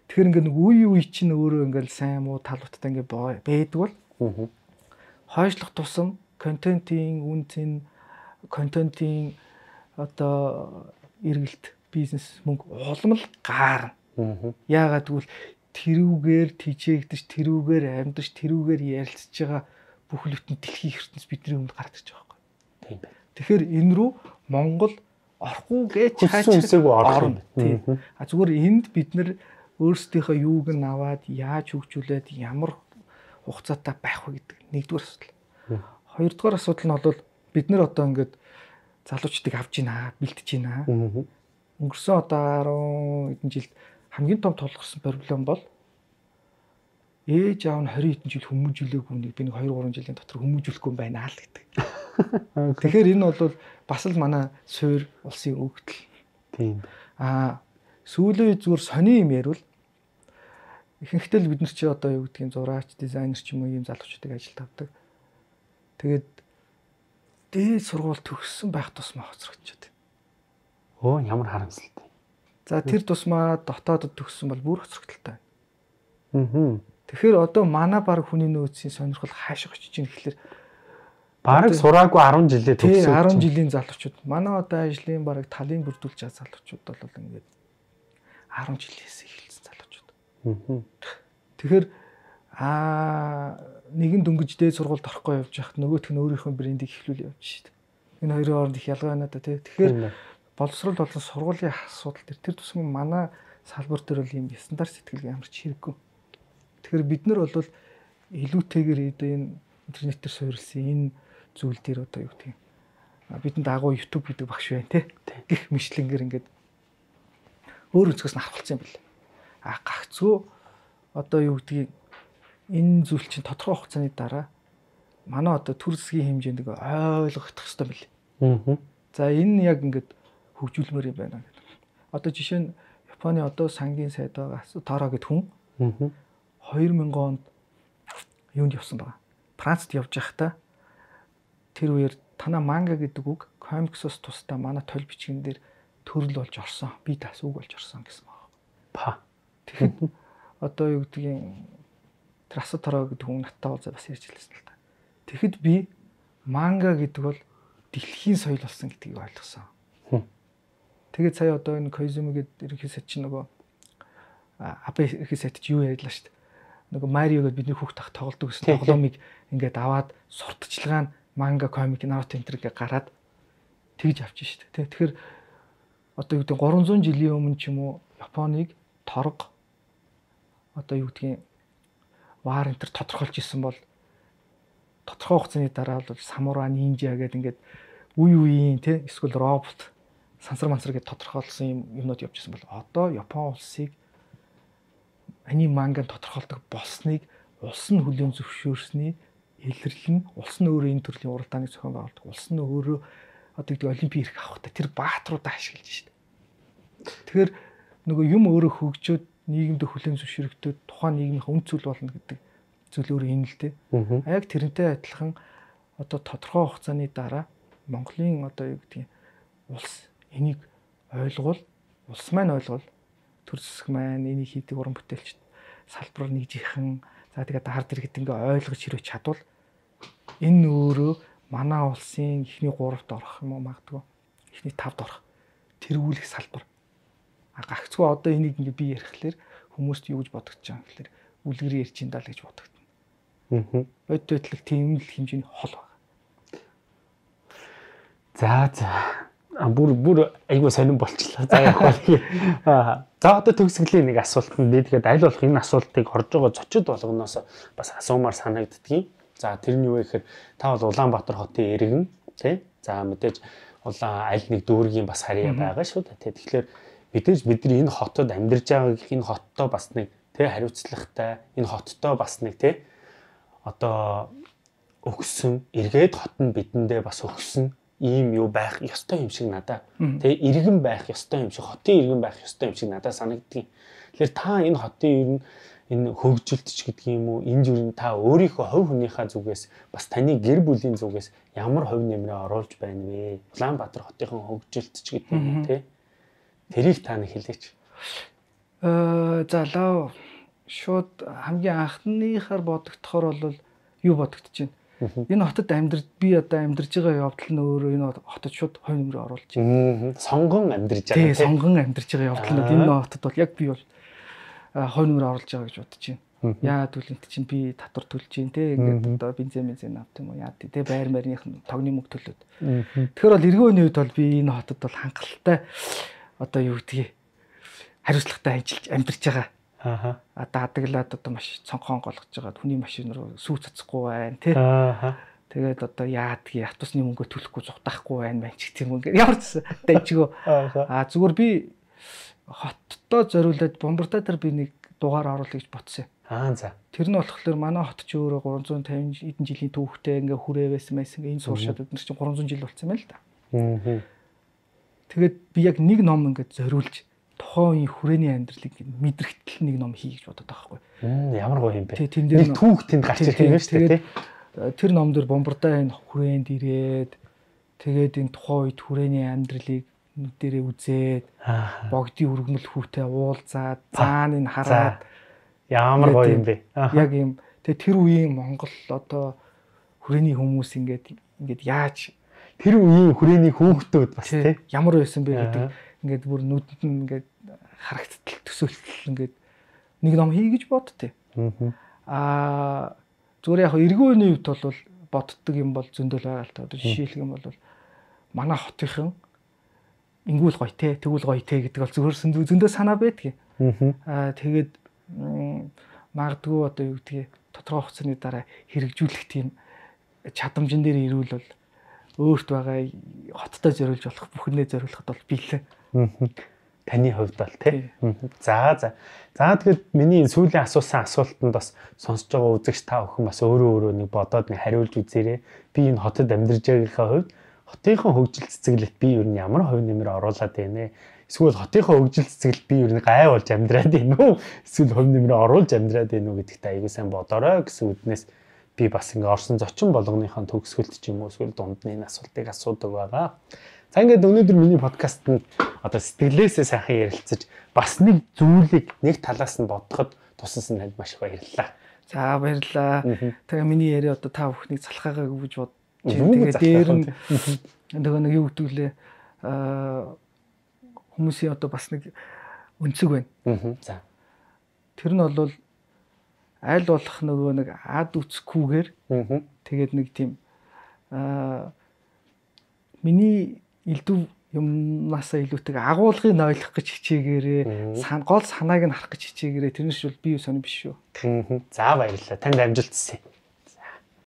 Тэгэхээр ингээд нэг үе үе чинь өөрөө ингээд сайн муу талуудтай ингээд байдаг бол хойшлох тусам контентын үнцэн, контентын одоо эргэлт, бизнес, мөнгө улам л гаарна. Яагаад гэвэл тэрүүгээр тижээгдэж, тэрүүгээр амьдж, тэрүүгээр ярилцж байгаа бүх бүтэн дэлхийн ертөнц бидний өмнө гарч ирж байгаа байхгүй. Тийм байна. Тэгэхээр энэ рүү Монгол орохгүй гэж хайчсаагүй орно. Тийм. А зүгээр энд бид нэр өөрсдийнхөө юуг нь аваад яаж хөгжүүлээд ямар хугацаатай байх вэ гэдэг нэгдүгээр асуудал. Хоёрдугаар асуудал нь бол бид нэр одоо ингээд залуучдыг авж гинэ, бэлтэж гинэ. Өнгөрсөн одоо арван хэдэн жилд хамгийн том тулгарсан проблем бол ээж аав нь хорин хэдэн жил хүмүүжүүлээгүй нэг би нэг хоёр гурван жилийн дотор хүмүүжүүлэхгүй юм байна л гэдэг. Тэгэхээр энэ бол бас л манай суур улсын өгдөл. Тийм. Аа сүүлийн зүгээр сони юм ярил ихэнхдээ л бид нар чи одоо юу гэдгийг зураач, дизайнер ч юм уу ийм залуучуудыг ажилд авдаг. Тэгээд дээд сургууль төгссөн байх тусмаа хоцрогдчиход. Оо ямар харамсалтай. За тэр тусмаа дотоодод төгссөн бол бүр хоцрогдолтой байна. Аа. Тэгэхээр одоо манай баг хүний нөөцийн сонирхол хаашаа очиж ийн гэхэлэр бараг сураагүй арван жилээ төгссөн. арван жилийн залуучууд. Манай одоо ажлын бараг талын бүрдүүлж байгаа залуучууд бол ингээд арван жилээс эхэлсэн залуучууд. Аа. Тэгэхээр аа нэгэн дөнгөж дээд сургуульд орохгүй явж байхад нөгөөх нь өөрийнхөө брендийг эхлүүл явж шít. Энэ хоёрын хооронд их ялгаа байна да тий. Тэгэхээр боловсрол болон сургуулийн асуудал төр тэр тусмын манай салбар дээр бол ийм стандарт сэтгэлгээ ямар ч хэрэггүй. Тэгэхээр бид нар бол илүүтэйгээр энэ интернетээр суурилсан энэ зүйл дээр одоо юу гэдэг юм. Бидэнд агуу YouTube гэдэг багш байна тий. Гэх мэтлэнгээр ингээд өөр өнцгөөс нь харахулсан юм байна. А гагцгүй одоо юу гэдгийг энэ зүйл чинь тодорхой хугацааны дараа манай одоо төр засгийн хэмжээнд ойлгогдох хэрэгтэй мэл. Аа. За энэ яг ингээд хөгжүүлмээр юм байна гэдэг. Одоо жишээ нь Японы одоо сангийн сайд байгаа Таро гэдэг хүн хоёр мянган онд юунд явсан байгаа. Францад явж байхдаа тэр үеэр танаа манга гэдэг үг комиксоос тусдаа манай толь бичгэн дээр төрөл болж орсон. Би тас үг болж орсон гэсэн байна. Па. Тэгэхээр одоо юу гэдгийг Трасо Таро гэдэг хүн надтай уулзаа бас ярьж хэлсэн л та. Тэгэхэд би манга гэдэг бол дэлхийн соёл болсон гэдгийг ойлгосон. Тэгээд сая одоо энэ Koizumi гэдэг ерөнхий сайд чинь нөгөө Абе ерөнхий сайд чи юу ярьлаа шүү дээ. Нөгөө Марио гэдэг бидний хүүхд тах тоглодог гэсэн тоглоомыг ингээд аваад сурталчилгаа нь манга, комик, наруто энэ төргээ гараад тэгж авчих шүү дээ. Тэгэхээр одоо юу гэдэг гураван зуун жилийн өмнө ч юм уу Японыг торг одоо юу гэдгийг вар энэ төр тодорхойлж исэн бол тодорхой хугацааны дараа бол самурай, нинжа гэдэг ингээд үе үеийн тий эсвэл робот сансар мансар гэж тодорхойлсон юм юмнууд явж ирсэн бол одоо Япон улсыг аним манган тодорхойлдог болсныг улс нь хүлээн зөвшөөрсний илэрлэл нь улс нь өөрөө энэ төрлийн уралдааныг зохион байгуулдаг. Улс нь өөрөө одоо гэдэг олимпийн эрх авахтай тэр баатруудаа ашиглаж шít. Тэгэхээр нөгөө юм өөрөө хөгжөөд нийгэмд хүлээн зөвшөөрөгдөд тухайн нийгмийн үн цэл болно гэдэг зүйл өөрөө энэ л дээ. А яг тэрнтэй адилхан одоо тодорхой хугацааны дараа Монголын одоо юу гэдгийг улс энийг ойлгол, улс маань ойлгол, төр засаг маань энийг хийдэг уран бүтээлч салбар нэгжийнхэн за тэгээд ард иргэд ингээ ойлгож хэрвээ чадвал энэ өөрөө манай улсын эхний гуравт орох юм уу магадгүй эхний тавд орох тэргүүлэх салбар. А гагцгүй одоо энийг ингээ би ярихлаэр хүмүүст юу гэж бодогдож байгаа юм гэхээр үлгэр ярьж ин даа л гэж бодогдно. Аа. Бод байдлыг тийм л хэмжээний хол байна. За за бүр бүр айгуу сонирн болчихлоо. За яг бол аа за одоо төгсгөлийн нэг асуулт нь би тэгээд аль болох энэ асуултыг орж байгаа зочид болгоноос бас асуумаар санагддгийг. За тэр нь юу вэ гэхээр та бол Улаанбаатар хотын иргэн тий. За мэдээж улаан аль нэг дүүргийн бас харьяа байгаа шүү дээ. Тэгэхээр мэдээж бидний энэ хотод амьдарч байгаа энэ хоттой бас нэг тий хариуцлагатай энэ хоттой бас нэг тий одоо өгсөн эргээд хот нь бидэндээ бас өгсөн ийм юу байх ёстой юм шиг надаа тий иргэн байх ёстой юм шиг хотын иргэн байх ёстой юм шиг надад санагдгийг. Тэгэхээр та энэ хотын иргэн энэ хөгжилтч гэдэг юм уу энэ юу та өөрийнхөө хувь хүнийхээ зүгээс бас таны гэр бүлийн зүгээс ямар хувь нэмрээ оруулж байна вэ? Улаанбаатар хотынхон хөгжилтч гэдэг юм тий Тэрийг та нэг хэлээч. Э за лав шууд хамгийн анхныхаар бодогдохоор бол юу бодогдож байна? Энэ хотод амьдарч би одоо амьдарж байгаа явдал нь өөрөө энэ хотод шууд хой нэмрээ оруулж байна. Сонгон амьдарж байгаа тийм. Сонгон амьдарж байгаа явдал нь энэ хотод бол яг би бол хой нэмрээ оруулж байгаа гэж бодож байна. Яа түлэнт чинь би татвар төлж гин те ингээд одоо бензин бензин авт юм уу яа тий те байр марных тогны мөнгө төлөөд. Тэгэхээр бол эргэн үеийн үед бол би энэ хотод бол хангалттай одоо юу гэдгийг хариуцлагатай ажиллаж амьдарч байгаа. Аа. Одоо адаглаад одоо маш цонхон голгож байгаа хүний машин руу сүү цацахгүй байна тий. Аа. Тэгээд одоо яадгийг автобусны мөнгөө төлөхгүй зугатахгүй байна мэн ч гэх юм ингээд ямар ч дайжгүй. Аа зүгээр би хоттоо зориулаад бомбартай дээр би нэг дугаар оруулах гэж бодсон. Аа за. Тэр нь болохоор манай хот ч өөрөө гурван зуун тавин эдэн жилийн түүхтэй ингээ хүрээвэсэн байсан ингээ энэ сууршаад бид нар чинь гурван зуун жил болсон байна л да. Аа. Тэгээд би яг нэг ном ингээ зориулж тухайн үеийн хүрээний амьдралыг мэдрэгтэл нэг ном хий гэж бодоод байгаа байхгүй. Ямар гоё юм бэ. Нэг түүх тэнд гарч ирэх юм шүү дээ. Тэр ном дээр бомбартай энэ хүрээнд ирээд тэгээд энэ тухайн үед хүрээний амьдралыг нүдэрээ үзээд богдын өргөмөл хүүтэй уулзаад цаана энэ хараад ямар гоё юм бэ. Яг юм. Тэгээ тэр үеийн Монгол одоо хүрээний хүмүүс ингээд ингээд яаж тэр үеийн хүрээний хүүхдүүд бас тийм ямар байсан бэ гэдэг ингээд бүр нүдэнд нь ингээд харагдтал төсөөлтөл ингээд нэг ном хий гэж бодтыг. Аа зүгээр яг эргэн үеийн үед бол боддог юм бол зөндөл байгаа л та. Одоо жишээлх юм бол манай хотынхан ингүүл гоё те тэгвэл гоё те гэдэг бол зүгээр зөндөө санаа байдгийг. Аа тэгээд магадгүй одоо юу гэдгийг тодорхой хугацааны дараа хэрэгжүүлэх тийм чадамжин дээр ирүүл бол өөрт байгаа хоттой зориулж болох бүхнээ зориулахад бол биелээ. Таны хувьд бол тий. За за. За тэгээд миний сүүлийн асуусан асуултанд бас сонсож байгаа үзэгч та бүхэн бас өөрөө өөрөө нэг бодоод нэг хариулж үзээрэй. Би энэ хотод амьдарч байгаагийнхаа хувьд хотынхон хөгжил цэцэглэлт би ер нь ямар хувь нэмэр оруулаад байна вэ? Эсвэл хотынхон хөгжил цэцэглэлт би ер нь гай болж амьдраад байна уу? Эсвэл хувь нэмэр оруулж амьдраад байна уу гэдэгт аягүй сайн бодорой гэсэн үднээс би бас ингээ орсон зочин болгоныхоо төгсгөлт ч юм уу эсвэл дундны энэ асуултыг асуудаг байгаа. За ингээд өнөөдөр миний подкаст нь одоо сэтгэлээсээ сайхан ярилцаж бас нэг зүйлийг нэг талаас нь бодоход тусалсан танд маш их баярлалаа. За баярлалаа. Тэгээ миний яриа одоо та бүхнийг залхаагаа гэж бодож байна. Тэгээ дээр нь нөгөө нэг юу гэдэг лээ аа хүмүүсийн одоо бас нэг өнцөг байна. За. Тэр нь бол аль болох нөгөө нэг ад үцхгүйгээр тэгээд нэг тийм аа миний элдв юмнасаа илүүтэйг агуулгыг нойлох гэж хичээгээрээ гол санааг нь харах гэж хичээгээрээ тэрнээс бол бие сони биш шүү. За баярлалаа. Танд амжилт хүсье.